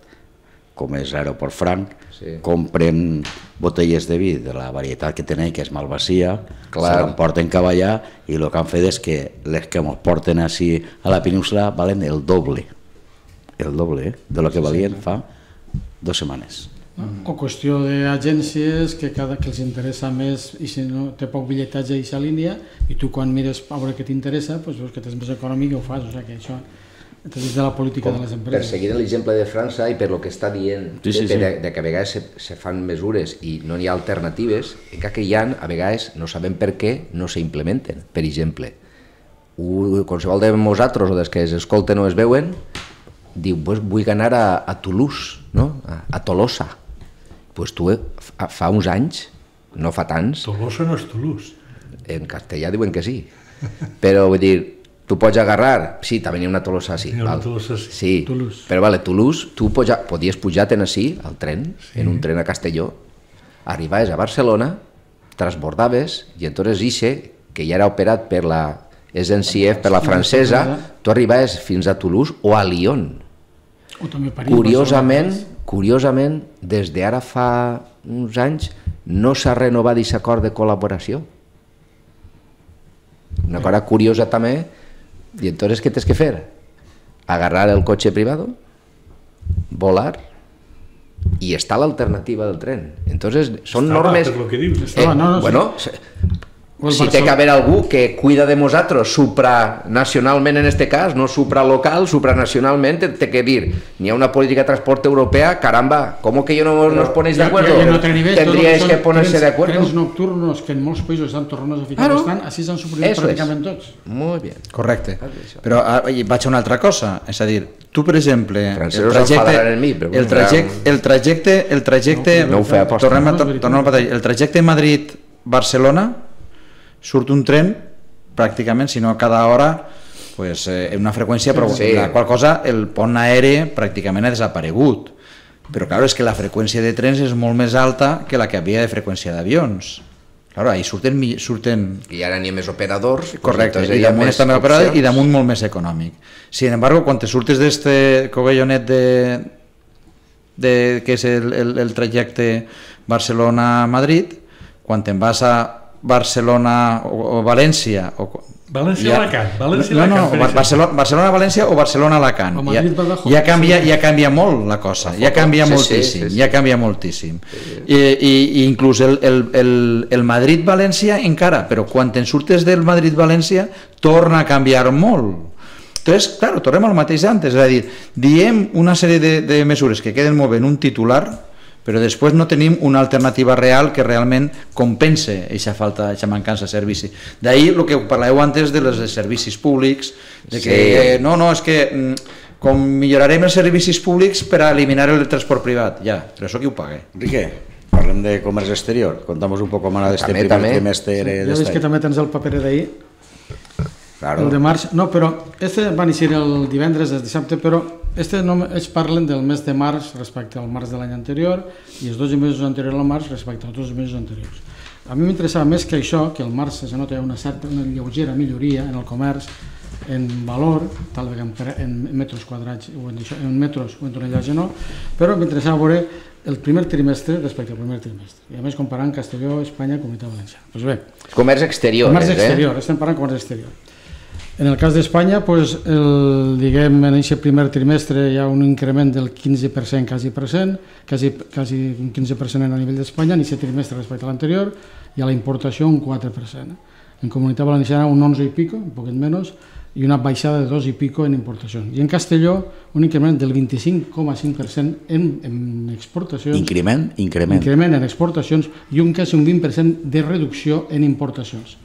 com és l'aeroport franc, sí. compren botelles de vi de la varietat que tenen, que és Malvasia, se l'emporten cap allà i el que han fet és que les que ens porten així a la península valen el doble, el doble eh? de lo que valien fa dues setmanes. O qüestió d'agències que cada que els interessa més i si no té poc bitlletatge a aquesta línia i tu quan mires a veure què t'interessa doncs veus que tens més econòmic i ho fas, o sigui que això és de la política de les empreses. Per seguir l'exemple de França i per lo que està dient sí, sí, sí. De, de que a vegades se, se fan mesures i no hi ha alternatives, encara que hi ha, a vegades no sabem per què no s'implementen. Per exemple, un, qualsevol de nosaltres o dels que es escolten o es veuen diu, pues, vull anar a, a Toulouse, no? a, a Tolosa. Pues tu fa, fa uns anys, no fa tants... Tolosa no és Toulouse. En castellà diuen que sí, però vull dir, tu pots agarrar, sí, també hi ha una Tolosa, sí. Una Tolosa, sí. Sí, Toulouse. Però vale, Toulouse, tu poja, podies pujar en així, al tren, sí. en un tren a Castelló, arribaves a Barcelona, transbordaves, i entonces Isse, que ja era operat per la S N C F, per la francesa, tu arribaves fins a Toulouse o a Lyon. O també a París. Curiosament, curiosament, des d'ara fa uns anys, no s'ha renovat aquest acord de col·laboració. Una cosa curiosa també. ¿Y entonces qué tienes que hacer? Agarrar el coche privado, volar, y está la alternativa del tren. Entonces son Estaba, normes... Lo que dius, eh, no, no, bueno, sí. Si té que haver algú que cuida de nosaltres supranacionalment en este cas, no supralocal, supranacionalment, té que dir, n'hi ha una política de transporte europea, caramba, ¿cómo que yo no nos ponéis de acuerdo? En otro nivel, Tendríais que ponerse de acuerdo. Trens nocturnos que en molts països estan tornant a ficar bastant, així s'han suprimit pràcticament tots. Molt bé. Correcte. Però vaig a una altra cosa, és a dir, tu, per exemple, el trajecte, el trajecte, el trajecte, el trajecte, tornem a batallar, el trajecte Madrid-Barcelona surt un tren pràcticament, si no cada hora, pues, eh, en una freqüència, però sí. La qual cosa el pont aeri pràcticament ha desaparegut. Però clar, és que la freqüència de trens és molt més alta que la que havia de freqüència d'avions. Claro, ahí surten, surten... I ara n'hi ha més operadors. Correcte, pues, i damunt està més operador i damunt molt més econòmic. Sin embargo, quan te surtes d'este covellonet de, de, que és el, el, el trajecte Barcelona-Madrid, quan te'n vas a Barcelona o, o València o, València-Alacant ja, no, no, no, Barcelona-València o Barcelona-Alacant ja, ja, canvia, ja canvia molt la cosa, ja canvia sí, moltíssim sí, sí, sí. ja canvia moltíssim I, i, i inclús el, el, el, el Madrid-València encara, però quan te'n surtes del Madrid-València torna a canviar molt. Entonces, claro, tornem al mateix antes, és a dir, diem una sèrie de, de mesures que queden molt bé en un titular, però després no tenim una alternativa real que realment compense aquesta falta, aquesta mancança de servici. D'ahir el que parlàveu antes de les servicis públics, de que sí. eh, no, no, és que com millorarem els servicis públics per a eliminar el transport privat, ja, però això qui ho paga? Enrique, parlem de comerç exterior, contamos un poco más de este primer trimestre. Ja veus que també tens el paper d'ahir. Claro. El de març, no, però este va néixer el divendres, el dissabte, però este no, ells parlen del mes de març respecte al març de l'any anterior i els dotze mesos anteriors al març respecte als dos mesos anteriors. A mi m'interessava més que això, que el març se nota una certa, una lleugera milloria en el comerç, en valor, tal vegada en metres quadrats o en, això, en metros o en tonellatge no, però m'interessava veure el primer trimestre respecte al primer trimestre. I a més comparant Castelló, Espanya, Comunitat Valenciana. Pues bé, comerç exterior. Comerç exterior, eh? Estem parlant de comerç exterior. En el cas d'Espanya, pues, el, diguem, en aquest primer trimestre hi ha un increment del quinze per cent, quasi per cent, quasi, quasi un quinze per cent a nivell d'Espanya, en aquest trimestre respecte a l'anterior, i a la importació un quatre per cent. En Comunitat Valenciana un onze i pico, un poquet menys, i una baixada de dos i pico en importacions. I en Castelló un increment del vint-i-cinc coma cinc per cent en, en exportacions. Increment? Increment. Increment en exportacions i un quasi un vint per cent de reducció en importacions.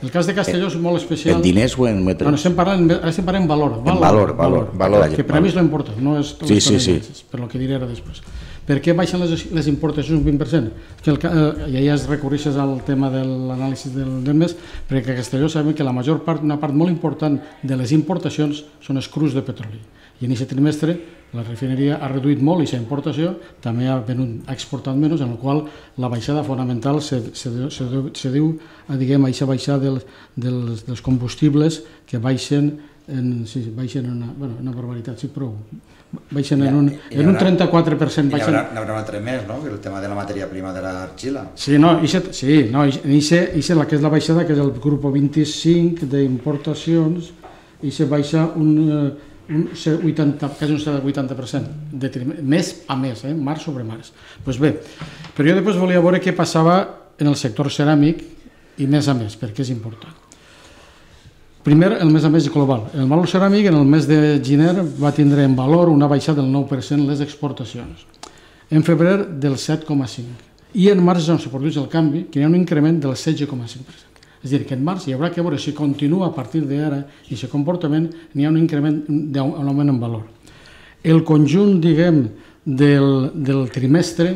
El cas de Castelló és molt especial. En diners o en metres? No, estem parlant, estem parlant en valor. En valor, valor. valor. Que per a mi és l'important, no és sí, sí, sí. per el que diré ara després. Per què baixen les, les importacions un vint per cent? Que el, eh, ja es recorreixes al tema de l'anàlisi del, del mes, perquè a Castelló sabem que la major part, una part molt important de les importacions són els crus de petroli. I en aquest trimestre la refineria ha reduït molt aquesta importació, també ha, venut, ha exportat menys, en la qual la baixada fonamental se, se, se, se diu a diguem, a aquesta baixada dels, dels, dels combustibles que baixen en, sí, baixen en una, bueno, una barbaritat, sí, prou. Baixen en un, en un trenta-quatre per cent. I n'hi haurà un altre més, no? El tema de la matèria prima de l'argila. Sí, no, ixe, sí, no, ixe, ixe la que és la baixada, que és el grup vint-i-cinc d'importacions, ixe baixa un... un vuitanta, quasi un vuitanta per cent, de mes a mes, eh? Març sobre març. Pues bé, però jo després volia veure què passava en el sector ceràmic i mes a mes, perquè és important. Primer, el mes a mes global. El valor ceràmic en el mes de gener va tindre en valor una baixada del nou per cent les exportacions. En febrer del set coma cinc. I en març on se produeix el canvi, que hi ha un increment del setze coma cinc per cent. És a dir, que en març hi haurà que veure si continua a partir d'ara i aquest comportament, n'hi ha un increment d'un augment en valor. El conjunt, diguem, del, del trimestre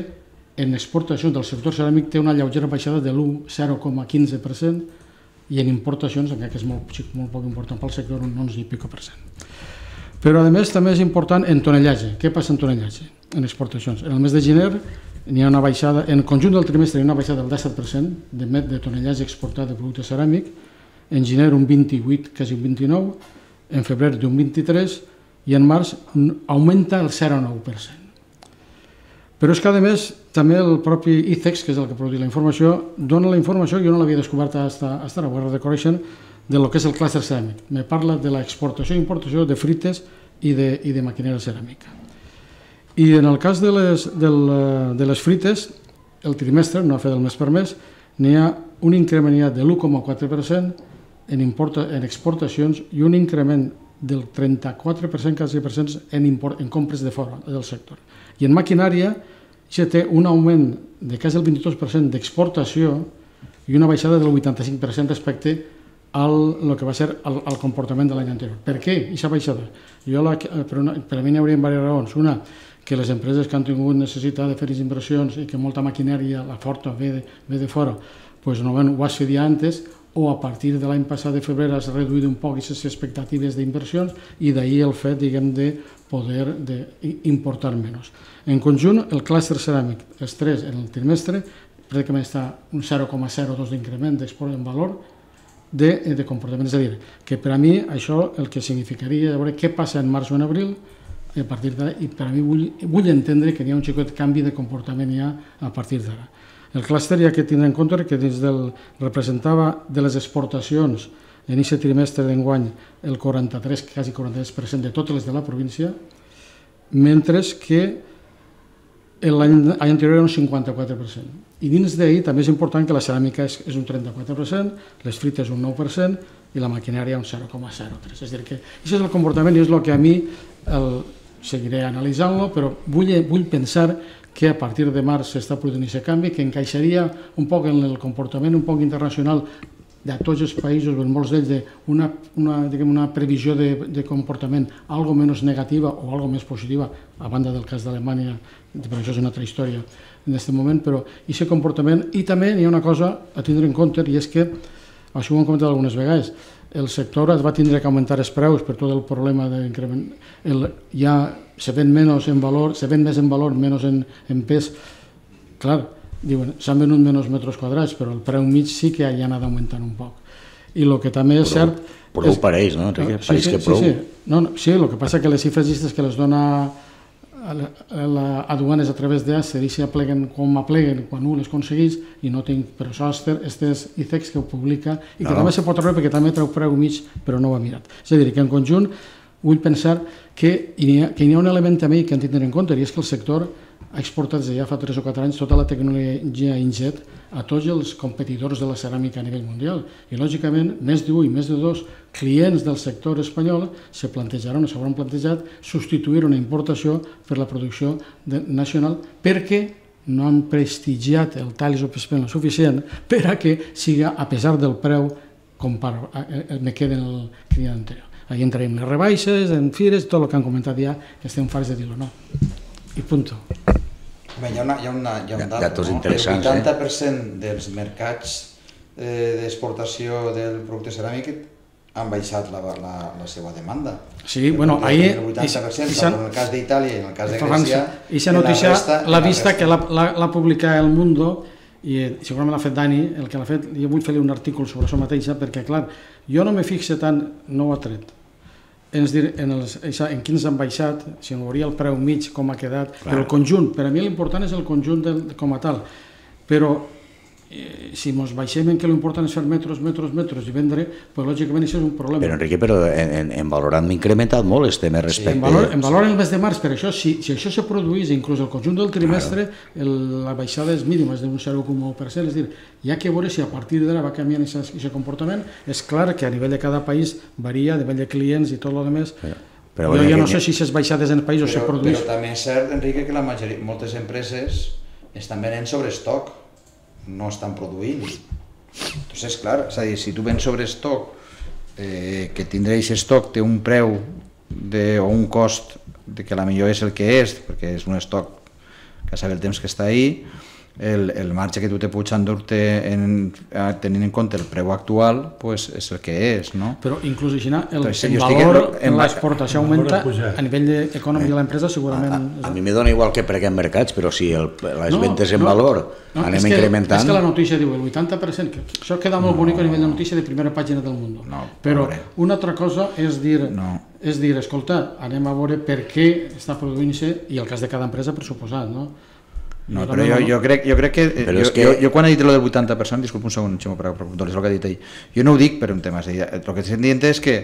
en exportacions del sector ceràmic té una lleugera baixada de l'u coma zero coma quinze per cent i en importacions, encara que és molt, molt poc important pel sector, un onze i pico per cent. Però, a més, també és important en tonellatge. Què passa en tonellatge? En exportacions. En el mes de gener n'hi ha una baixada, en el conjunt del trimestre hi ha una baixada del disset per cent de, de tonellatge exportat de producte ceràmic, en gener un vint-i-vuit, quasi un vint-i-nou, en febrer d'un vint-i-tres i en març augmenta el zero coma nou per cent. Però és que, a més, també el propi ICEX, que és el que produeix la informació, dona la informació, jo no l'havia descobert fins ara, ho he de conèixer, de lo que és el clúster ceràmic. Me parla de l'exportació i importació de frites i de, i de maquinària ceràmica. I en el cas de les, de, de les frites, el trimestre, no ha fet el mes per mes, n'hi ha un increment de l'u coma quatre per cent en, importa, en exportacions i un increment del trenta-quatre per cent, quasi per cent, en, import, en compres de fora del sector. I en maquinària ja té un augment de quasi el vint-i-dos per cent d'exportació i una baixada del vuitanta-cinc per cent respecte al el que va ser el, el comportament de l'any anterior. Per què aquesta baixada? Jo la, per, una, per a mi n'hi hauria diverses raons. Una, que les empreses que han tingut necessitat de fer inversions i que molta maquinària, la forta, ve de, ve de fora, pues no, bueno, ho has fet ja antes, o a partir de l'any passat de febrer has reduït un poc aquestes expectatives d'inversions i d'ahir el fet, diguem, de poder de importar menys. En conjunt, el clúster ceràmic, els tres en el trimestre, pràcticament està un zero coma zero dos d'increment d'export en valor de, de comportament. És a dir, que per a mi això el que significaria veure què passa en març o en abril, i a partir d'ara, i per a mi vull, vull entendre que hi ha un xicot canvi de comportament ja a partir d'ara. El clúster hi ha que tindre en compte que des del representava de les exportacions en aquest trimestre d'enguany el quaranta-tres, quasi quaranta-tres per cent de totes les de la província, mentre que l'any anterior era un cinquanta-quatre per cent. I dins d'ahir també és important que la ceràmica és, és un trenta-quatre per cent, les frites un nou per cent i la maquinària un zero coma zero tres. És a dir, que això és el comportament i és el que a mi el, seguiré analitzant-lo, però vull, vull pensar que a partir de març s'està produint aquest canvi, que encaixaria un poc en el comportament un poc internacional de tots els països, en molts d'ells, una, una, diguem, una previsió de, de comportament algo menys negativa o algo més positiva, a banda del cas d'Alemanya, però això és una altra història en aquest moment, però aquest comportament, i també hi ha una cosa a tindre en compte, i és que, això ho hem comentat algunes vegades, el sector va tindre que augmentar els preus per tot el problema d'increment. Ja se ven menys en valor, se ven més en valor, menys en, en pes. Clar, diuen, s'han venut menys metres quadrats, però el preu mig sí que ja ha anat augmentant un poc. I el que també és cert... Però ho pareix, no, Enrique? Sí, pareix sí, que prou. sí, sí. No, no, sí, el que passa que les xifres llistes que les dona a aduanes a través d'Acer i si apleguen com apleguen quan un les aconsegueix i no tinc, però això és ICEX que ho publica i que no. També se pot treure perquè també treu preu mig però no ho ha mirat. És a dir, que en conjunt vull pensar que hi ha, que hi ha un element també que han de tenir en compte i és que el sector ha exportat des de ja fa tres o quatre anys tota la tecnologia Injet a tots els competidors de la ceràmica a nivell mundial i lògicament més d'un i més de dos clients del sector espanyol se plantejaran o s'hauran plantejat substituir una importació per la producció de, nacional perquè no han prestigiat el Thales o P S P suficient per a que siga, a pesar del preu, com per, me queda en el dia anterior. Ahí entrarem les rebaixes, en fires, tot el que han comentat ja, que estem farts de dir-ho, no. I punto. Bé, hi ha, una, hi ha, una, hi ha un dato, datos no? interessants, El vuitanta per cent dels mercats eh, d'exportació del producte ceràmic han baixat la, la, la seva demanda. Sí, bueno, ahí... El vuitanta per cent, en el cas d'Itàlia i en el cas de Grècia... I aquesta notícia l'ha vista que l'ha publicat El Mundo i segurament l'ha fet Dani, el que l'ha fet, jo vull fer-li un article sobre això mateixa, perquè, clar, jo no me fixe tant, no ho ha tret, en, en, els, en quins han baixat, si no veuria el preu mig, com ha quedat, clar. Però el conjunt, per a mi l'important és el conjunt del, com a tal, però eh, si ens baixem en què l'important és fer metros, metros, metros i vendre, pues, lògicament això és un problema. Però Enrique, però en, en, en valor han incrementat molt els temes respecte... Sí, en, valor, en valor el mes de març, per això, si, si això se produís, inclús el conjunt del trimestre, el, la baixada és mínima, és d'un zero coma u per cent, és a dir, hi ha que veure si a partir d'ara va canviant aquest comportament. És clar que a nivell de cada país varia, a nivell de clients i tot el demés. Però, però jo ja no sé si s'és baixades en països se produís. Però també és cert, Enrique, que la majoria, moltes empreses estan venent sobre estoc, no estan produint. Entonces, clar, és a dir, si tu vens sobre estoc, eh, que tindrà aquest estoc té un preu de, o un cost de que la millor és el que és, perquè és un estoc que sabe el temps que està ahí, el, el marge que tu te pots endur-te tenint en compte el preu actual, pues és el que és, no? Però inclús així, el, Entonces, el valor en l'exportació augmenta a nivell econòmic de l'empresa segurament... A, a, a mi me dona igual que preguem mercats, però si el, les no, ventes en no, valor no, anem és que, incrementant... És que la notícia diu el vuitanta per cent, que això queda molt bonic a nivell de notícia de primera pàgina del Mundo. No, però una altra cosa és dir, no. és dir, escolta, anem a veure per què està produint-se, i el cas de cada empresa per suposat, no? No, però jo, jo, crec, jo crec que... Jo, que... Jo, jo quan he dit lo del vuitanta per cent, disculpa un segon, Ximo, per apuntar el que ha dit ahir, jo no ho dic per un tema, és a dir, el que estic dient és que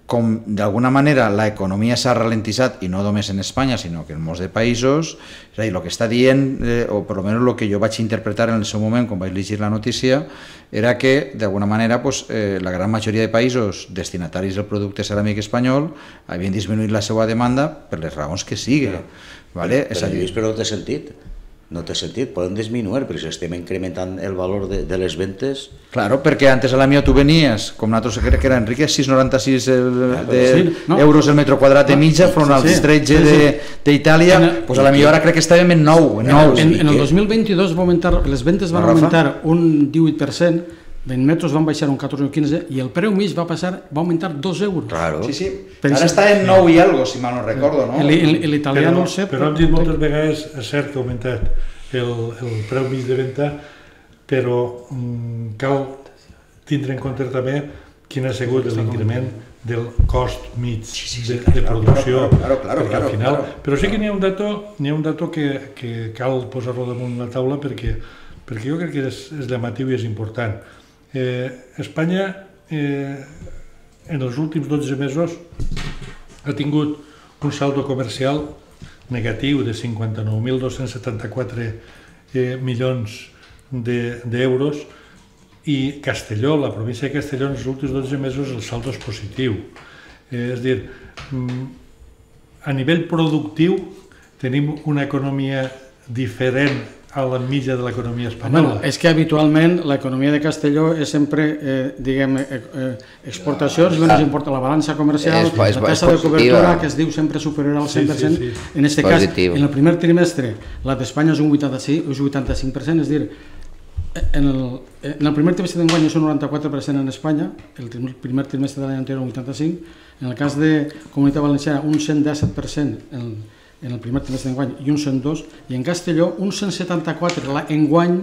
com d'alguna manera la economia s'ha ralentitzat, i no només en Espanya, sinó que en molts de països, és a dir, el que està dient, eh, o per almenys el que jo vaig interpretar en el seu moment, quan vaig llegir la notícia, era que d'alguna manera pues, eh, la gran majoria de països destinataris del producte ceràmic espanyol havien disminuït la seva demanda per les raons que sigui. Però, vale? però, però, però no té sentit. No té sentit, poden disminuir, però si estem incrementant el valor de, de les ventes... Claro, perquè antes a la mia tu venies, com nosaltres crec que era Enrique, sis coma noranta sis el, de sí, no. euros el metro quadrat de mitja, front als sí, sí, tretze sí, sí. d'Itàlia, pues a la millor ara crec que estàvem en nou. En, nou. en, en el dos mil vint-i-dos va augmentar, les ventes van augmentar un divuit per cent, en metros van baixar un catorze o quinze i el preu mig va passar, va augmentar dos euros. Claro. Sí, sí. Ara està en nou i algo, si mal no recordo, no? L'italià no el sé. Però hem dit moltes vegades, és cert que ha augmentat el, el preu mig de venda, però mm, cal tindre en compte també quin ha sigut l'increment del cost mig de, de producció. Claro, claro, claro, al final, claro. Però sí que n'hi ha un dato, n'hi ha un dato que, que cal posar-lo damunt la taula perquè, perquè jo crec que és, és llamatiu i és important. Eh, Espanya eh, en els últims dotze mesos ha tingut un saldo comercial negatiu de cinquanta-nou mil dos-cents setanta-quatre eh, milions d'euros de, i Castelló, la província de Castelló, en els últims dotze mesos el saldo és positiu. Eh, és a dir, a nivell productiu tenim una economia diferent a la mitja de l'economia espanyola. Bueno, és que habitualment l'economia de Castelló és sempre, eh, diguem, eh, eh, exportacions, ah, i importa la balança comercial, és, és, la taxa de cobertura, que es diu sempre superior al cent per cent. Sí, sí, sí. En aquest cas, en el primer trimestre, la d'Espanya és un vuitanta-cinc per cent, és dir, en el, en el primer trimestre d'enguany és un noranta-quatre per cent en Espanya, el primer trimestre de l'any anterior un vuitanta-cinc per cent, en el cas de Comunitat Valenciana un cent disset per cent en en el primer trimestre d'enguany i un cent dos, i en Castelló un cent setanta-quatre enguany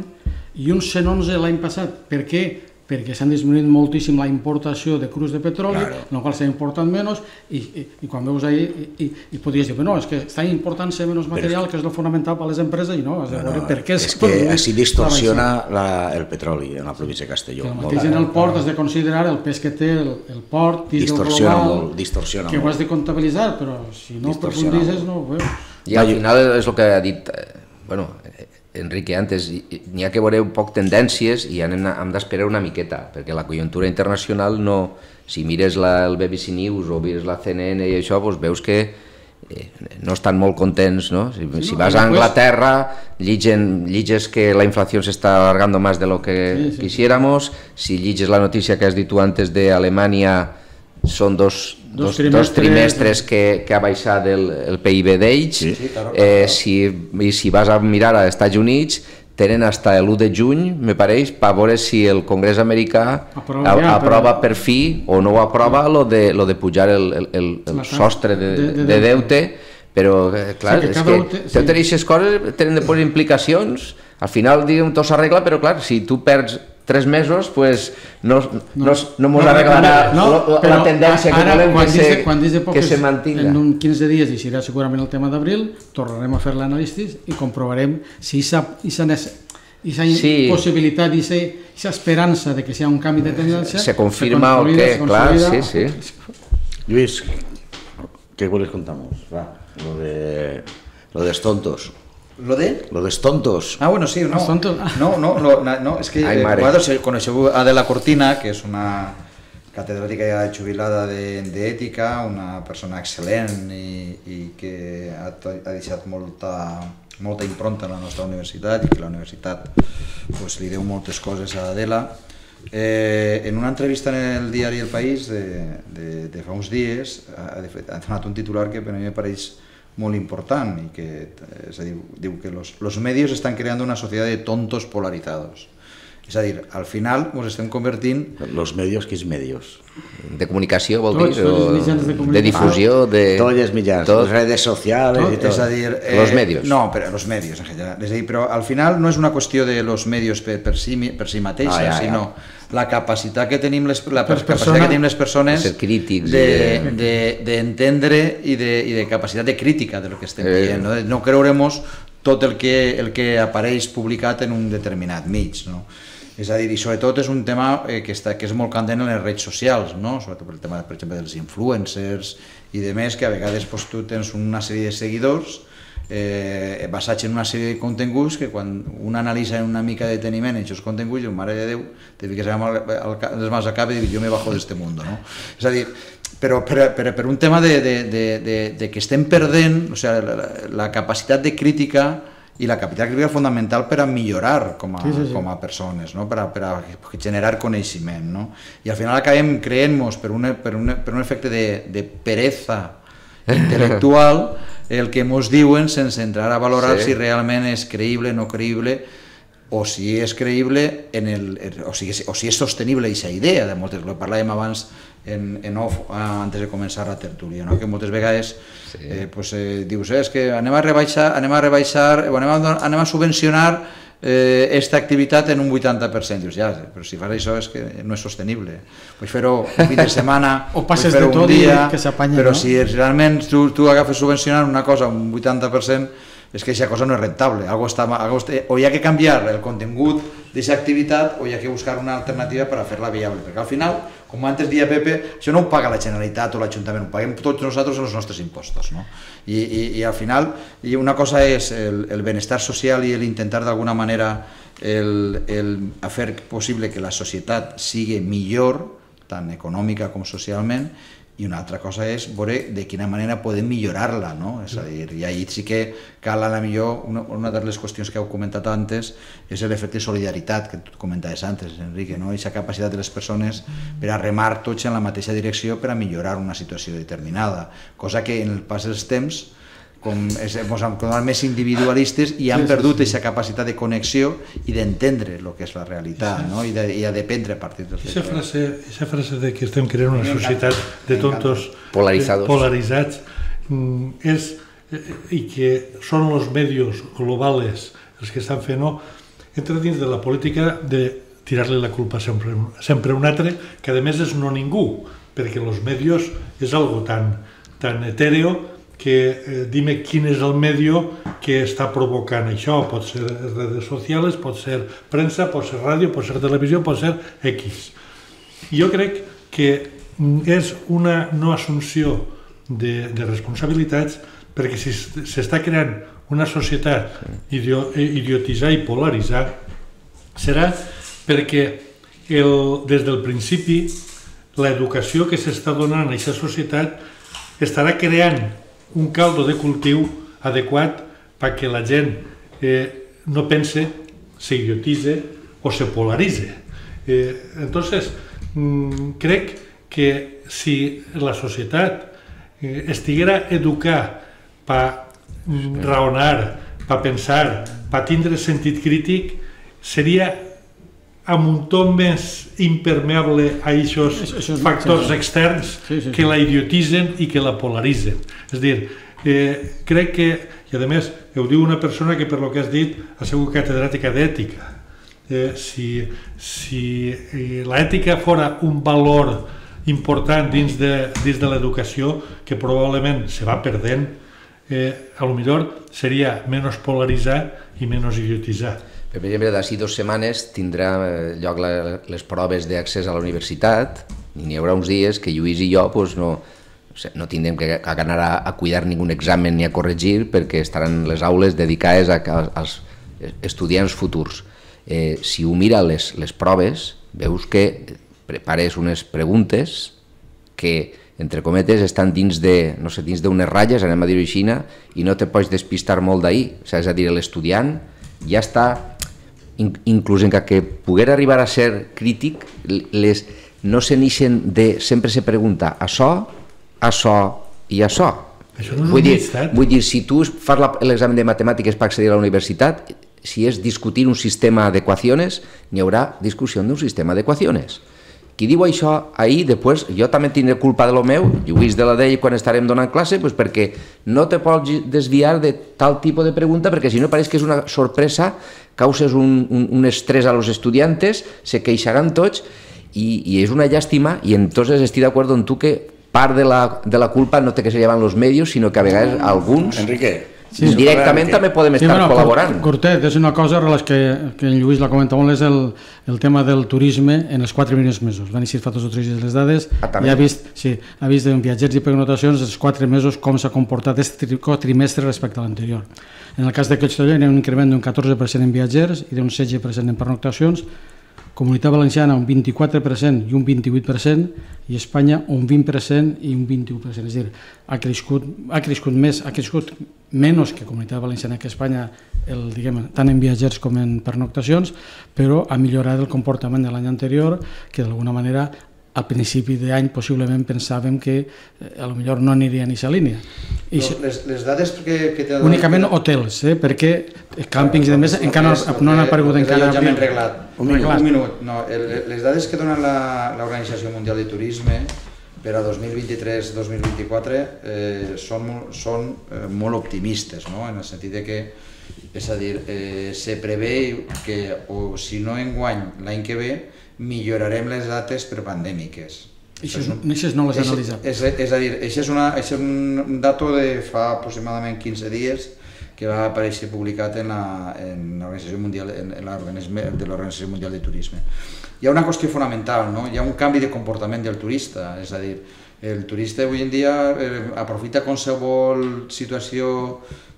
i un cent onze l'any passat. Per què? Perquè s'han disminuït moltíssim la importació de crus de petroli, claro. En el qual s'ha importat menys, i, i, i quan veus ahí, i, i podries dir, no, és que està important-se menys material, que és el fonamental per a les empreses, i no, has de veure per què... És que així distorsiona la, el petroli en la província de Castelló. El mateix en el port has de considerar el pes que té el, el port, distorsiona molt, distorsiona que ho has de comptabilitzar, però si no profunditzes no ho veus. I al final és el que ha dit, bueno, Enrique antes, n'hi ha que veure un poc tendències i hem, hem d'esperar una miqueta, perquè la conjuntura internacional no... Si mires la, el B B C News o mires la C N N i això, doncs veus que no estan molt contents, ¿no? Si, sí, si no, vas a Anglaterra, lligen, lliges que la inflación se está alargando más de lo que sí, sí, quisiéramos, si lliges la noticia que has dit tu antes de Alemania, són dos, dos, dos, trimestres, dos trimestres que, que ha baixat el, el P I B d'ells, sí, sí, claro, claro. Eh, si, i si vas a mirar als Estats Units, tenen fins a l'u de juny, me pareix, per veure si el Congrés americà aprova, ja, aprova per fi o no ho aprova lo de, lo de pujar el, el, el, el sostre de, de, de, de deute, però clar, sí, que és que deute, sí. Totes aquestes coses tenen de posar implicacions, al final diguem, tot s'arregla, però clar, si tu perds tres mesos, pues no, no, no mos arreglarà no, la, la tendència que volem que se, quan de poques, que se mantinga. En un quinze dies, i serà segurament el tema d'abril, tornarem a fer l'anàlisi i comprovarem si aquesta sí. possibilitat i aquesta esperança de que sigui un canvi de tendència se confirma o què, clar, sí, sí. Lluís, ¿qué les contamos? Va, lo de lo de tontos. ¿Lo de? Lo de tontos. Ah, bueno, sí, no. No, no, no, no, es que eh, vosaltres coneixeu Adela Cortina, que és una catedràtica ja jubilada d'ètica, una persona excel·lent i, i que ha, ha deixat molta, molta impronta en la nostra universitat i que la universitat pues, li deu moltes coses a Adela. Eh, en una entrevista en el diari El País de, de, de fa uns dies ha, ha donat un titular que per a mi me pareix molt important y que es decir, diu que los, los medios están creando una sociedad de tontos polarizados. És a dir, al final ens estem convertint... Los medios, quins medios? De comunicació, vol dir? O de difusió, de... Tots els mitjans, les redes socials i tot. És a dir... Los medios. No, però los medios en general. És a dir, però al final no és una qüestió de los medios per, per, si, per si mateixa, ah, ja, sinó ja. la capacitat que tenim les, la per capacitat persona, que tenim les persones d'entendre de, de, i, de, i de capacitat de crítica de lo que estem eh. dient. No, no creuremos tot el que, el que apareix publicat en un determinat mig, no? És a dir, i sobretot és un tema eh, que, està, que és molt candent en les redes socials, no? Sobretot per el tema, per exemple, dels influencers i de més, que a vegades pues, tu tens una sèrie de seguidors eh, basats en una sèrie de continguts que quan un analitza una mica de deteniment en aquests continguts, diu, mare de Déu, te fiques les mans al cap i dius, jo me bajo d'este mundo, no? És a dir, però per, per, per un tema de, de, de, de, de que estem perdent, o sigui, la, la capacitat de crítica i la capacitat crítica fundamental per a millorar com a, sí, sí, sí. com a persones, no? per, a, per a generar coneixement. No? I al final acabem creent-nos per, un, per, un, per un efecte de, de pereza intel·lectual el que ens diuen sense entrar a valorar sí. si realment és creïble, no creïble, o si és creïble en el, o, si és, o si és sostenible aquesta idea, de moltes, ho parlàvem abans en, en off, antes de començar la tertúlia, no? Que moltes vegades sí. eh, pues, eh, dius, eh, és que anem a rebaixar, anem a, rebaixar, o anem a, anem a subvencionar eh, esta activitat en un vuitanta per cent. Dius, ja, però si fas això és que no és sostenible. Puoi fer-ho un fin de setmana, o passes de tot i que s'apanya, però no? si realment tu, tu agafes subvencionant una cosa un vuitanta per cent, és que aquesta cosa no és rentable, algo està, algo està, o hi ha que canviar el contingut d'aquesta activitat o hi ha que buscar una alternativa per a fer-la viable, perquè al final, com antes deia Pepe, això no ho paga la Generalitat o l'Ajuntament, ho paguem tots nosaltres els nostres impostos, no? I, i, i al final, i una cosa és el, el benestar social i l'intentar d'alguna manera el, el fer possible que la societat sigui millor, tant econòmica com socialment, i una altra cosa és veure de quina manera podem millorar-la, no? És a dir, i ahí sí que cal a la millor, una, una de les qüestions que heu comentat antes és l'efecte de solidaritat que tu comentaves antes, Enrique, no? Aquesta capacitat de les persones per a remar tots en la mateixa direcció per a millorar una situació determinada, cosa que en el pas dels temps com ens hem tornat més individualistes i han perdut aquesta capacitat de connexió i d'entendre el que és la realitat, no? I, de, i a dependre a partir dels... Aquesta frase, aquesta frase de que estem creant una societat de tontos polaritzats, polaritzats és, i que són els medios globals els que estan fent, no? Entra dins de la política de tirar-li la culpa sempre, sempre a un altre, que a més és no ningú, perquè els medios és algo tan, tan etèreo que eh, dime quin és el medio que està provocant això. Pot ser redes socials, pot ser premsa, pot ser ràdio, pot ser televisió, pot ser X. Jo crec que és una no assumpció de, de responsabilitats, perquè si s'està creant una societat idio, idiotitzar i polaritzar, serà perquè el, des del principi l'educació que s'està donant a aquesta societat estarà creant un caldo de cultiu adequat perquè la gent eh, no pense, se idiotitze o se polaritze. Eh, entonces, mm, crec que si la societat eh, estiguera educada per mm, raonar, per pensar, per tindre sentit crític, seria a muntó més impermeable a aquests factors externs que la idiotitzen i que la polaritzen. És a dir, eh, crec que, i a més, ho diu una persona que per lo que has dit ha sigut catedràtica d'ètica. Eh, si si eh, l'ètica fora un valor important dins de, dins de l'educació, que probablement se va perdent, eh, a lo millor seria menys polaritzar i menys idiotitzar. Per exemple, d'ací dues setmanes tindrà lloc la, les proves d'accés a la universitat i n'hi haurà uns dies que Lluís i jo pues, no, no tindrem que anar a, a cuidar ningú examen ni a corregir perquè estaran les aules dedicades a, a, als estudiants futurs. Eh, si ho mira les, les proves, veus que prepares unes preguntes que, entre cometes, estan dins de, no sé, dins d'unes ratlles, anem a dir-ho així, i no te pots despistar molt d'ahir. O sigui, és a dir, l'estudiant ja està, inclús en que poguera arribar a ser crític, les, no se n'ixen de, sempre se pregunta això, això i això. Això no és vull, un dir, llistat. vull dir, si tu fas l'examen de matemàtiques per accedir a la universitat, si és discutir un sistema d'equacions, n'hi haurà discussió d'un sistema d'equacions. Qui diu això ahir, després, jo també tindré culpa de lo meu, Lluís de la d'ell quan estarem donant classe, pues perquè no te pots desviar de tal tipus de pregunta, perquè si no pareix que és una sorpresa, causes un, un, un estrès a los estudiantes, se queixaran tots, i, i és una llàstima, i entonces estic d'acord amb tu que part de la, de la culpa no té que se llevan los medios, sinó que a vegades alguns... Enrique, Sí, directament també podem estar sí, bueno, col·laborant. Cortet, és una cosa que, que en Lluís la comenta molt, és el, el tema del turisme en els quatre primers mesos. Van eixir fa dos o tres dies les dades, ah, i ha vist, sí, ha vist en viatgers i pernoctacions els quatre mesos com s'ha comportat aquest trimestre respecte a l'anterior. En el cas de Castelló hi ha un increment d'un catorze per cent en viatgers i d'un setze per cent en pernoctacions, Comunitat Valenciana un vint-i-quatre per cent i un vint-i-vuit per cent, i Espanya un vint per cent i un vint-i-u per cent. És a dir, ha crescut, ha crescut més, ha crescut menys que Comunitat Valenciana que Espanya, el, diguem, tant en viatgers com en pernoctacions, però ha millorat el comportament de l'any anterior, que d'alguna manera al principi d'any possiblement pensàvem que eh, a lo millor no aniria en aquesta línia. I les, les dades que, que donat... Únicament hotels, eh, perquè càmpings i demés encara no, no han aparegut encara... Ja m'he reglat. Un minut. Un minut. No, el, les dades que dona l'Organització Mundial de Turisme per a dos mil vint-i-tres dos mil vint-i-quatre eh, són, són eh, molt optimistes, no? En el sentit de que, és a dir, eh, se prevé que, o si no enguany, l'any que ve, millorarem les dates per pandèmiques. Això no les he analitzat. És, és, és a dir, això és, una, això és un dato de fa aproximadament quinze dies que va aparèixer publicat en l'Organització Mundial, en de l'Organització Mundial de Turisme. Hi ha una qüestió fonamental, no? Hi ha un canvi de comportament del turista, és a dir, el turista avui en dia eh, aprofita qualsevol situació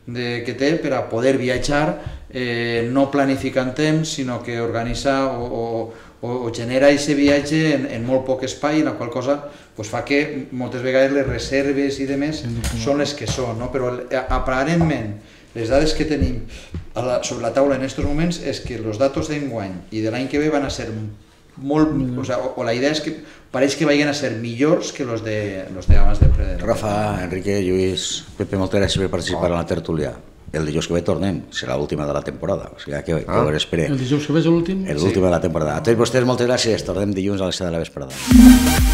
de, que té per a poder viatjar, eh, no planificar en temps, sinó que organitza o, o o genera aquest viatge en, en molt poc espai, en la qual cosa pues, fa que moltes vegades les reserves i demés són les que són, no? Però aparentment les dades que tenim a la, sobre la taula en aquests moments és que els datos d'enguany i de l'any que ve van a ser molt, o, sea, o, o la idea és que pareix que vagin a ser millors que els de, los de abans de... Rafa, Enrique, Lluís, Pepe, moltes gràcies per participar en la tertúlia. El dijous que ve tornem, serà l'última de la temporada, o sigui que, que ah. ho esperem. El dijous que ve és l'últim? L'última sí. de la temporada. A tots vostès moltes gràcies, tornem dilluns a les set de la vesprada.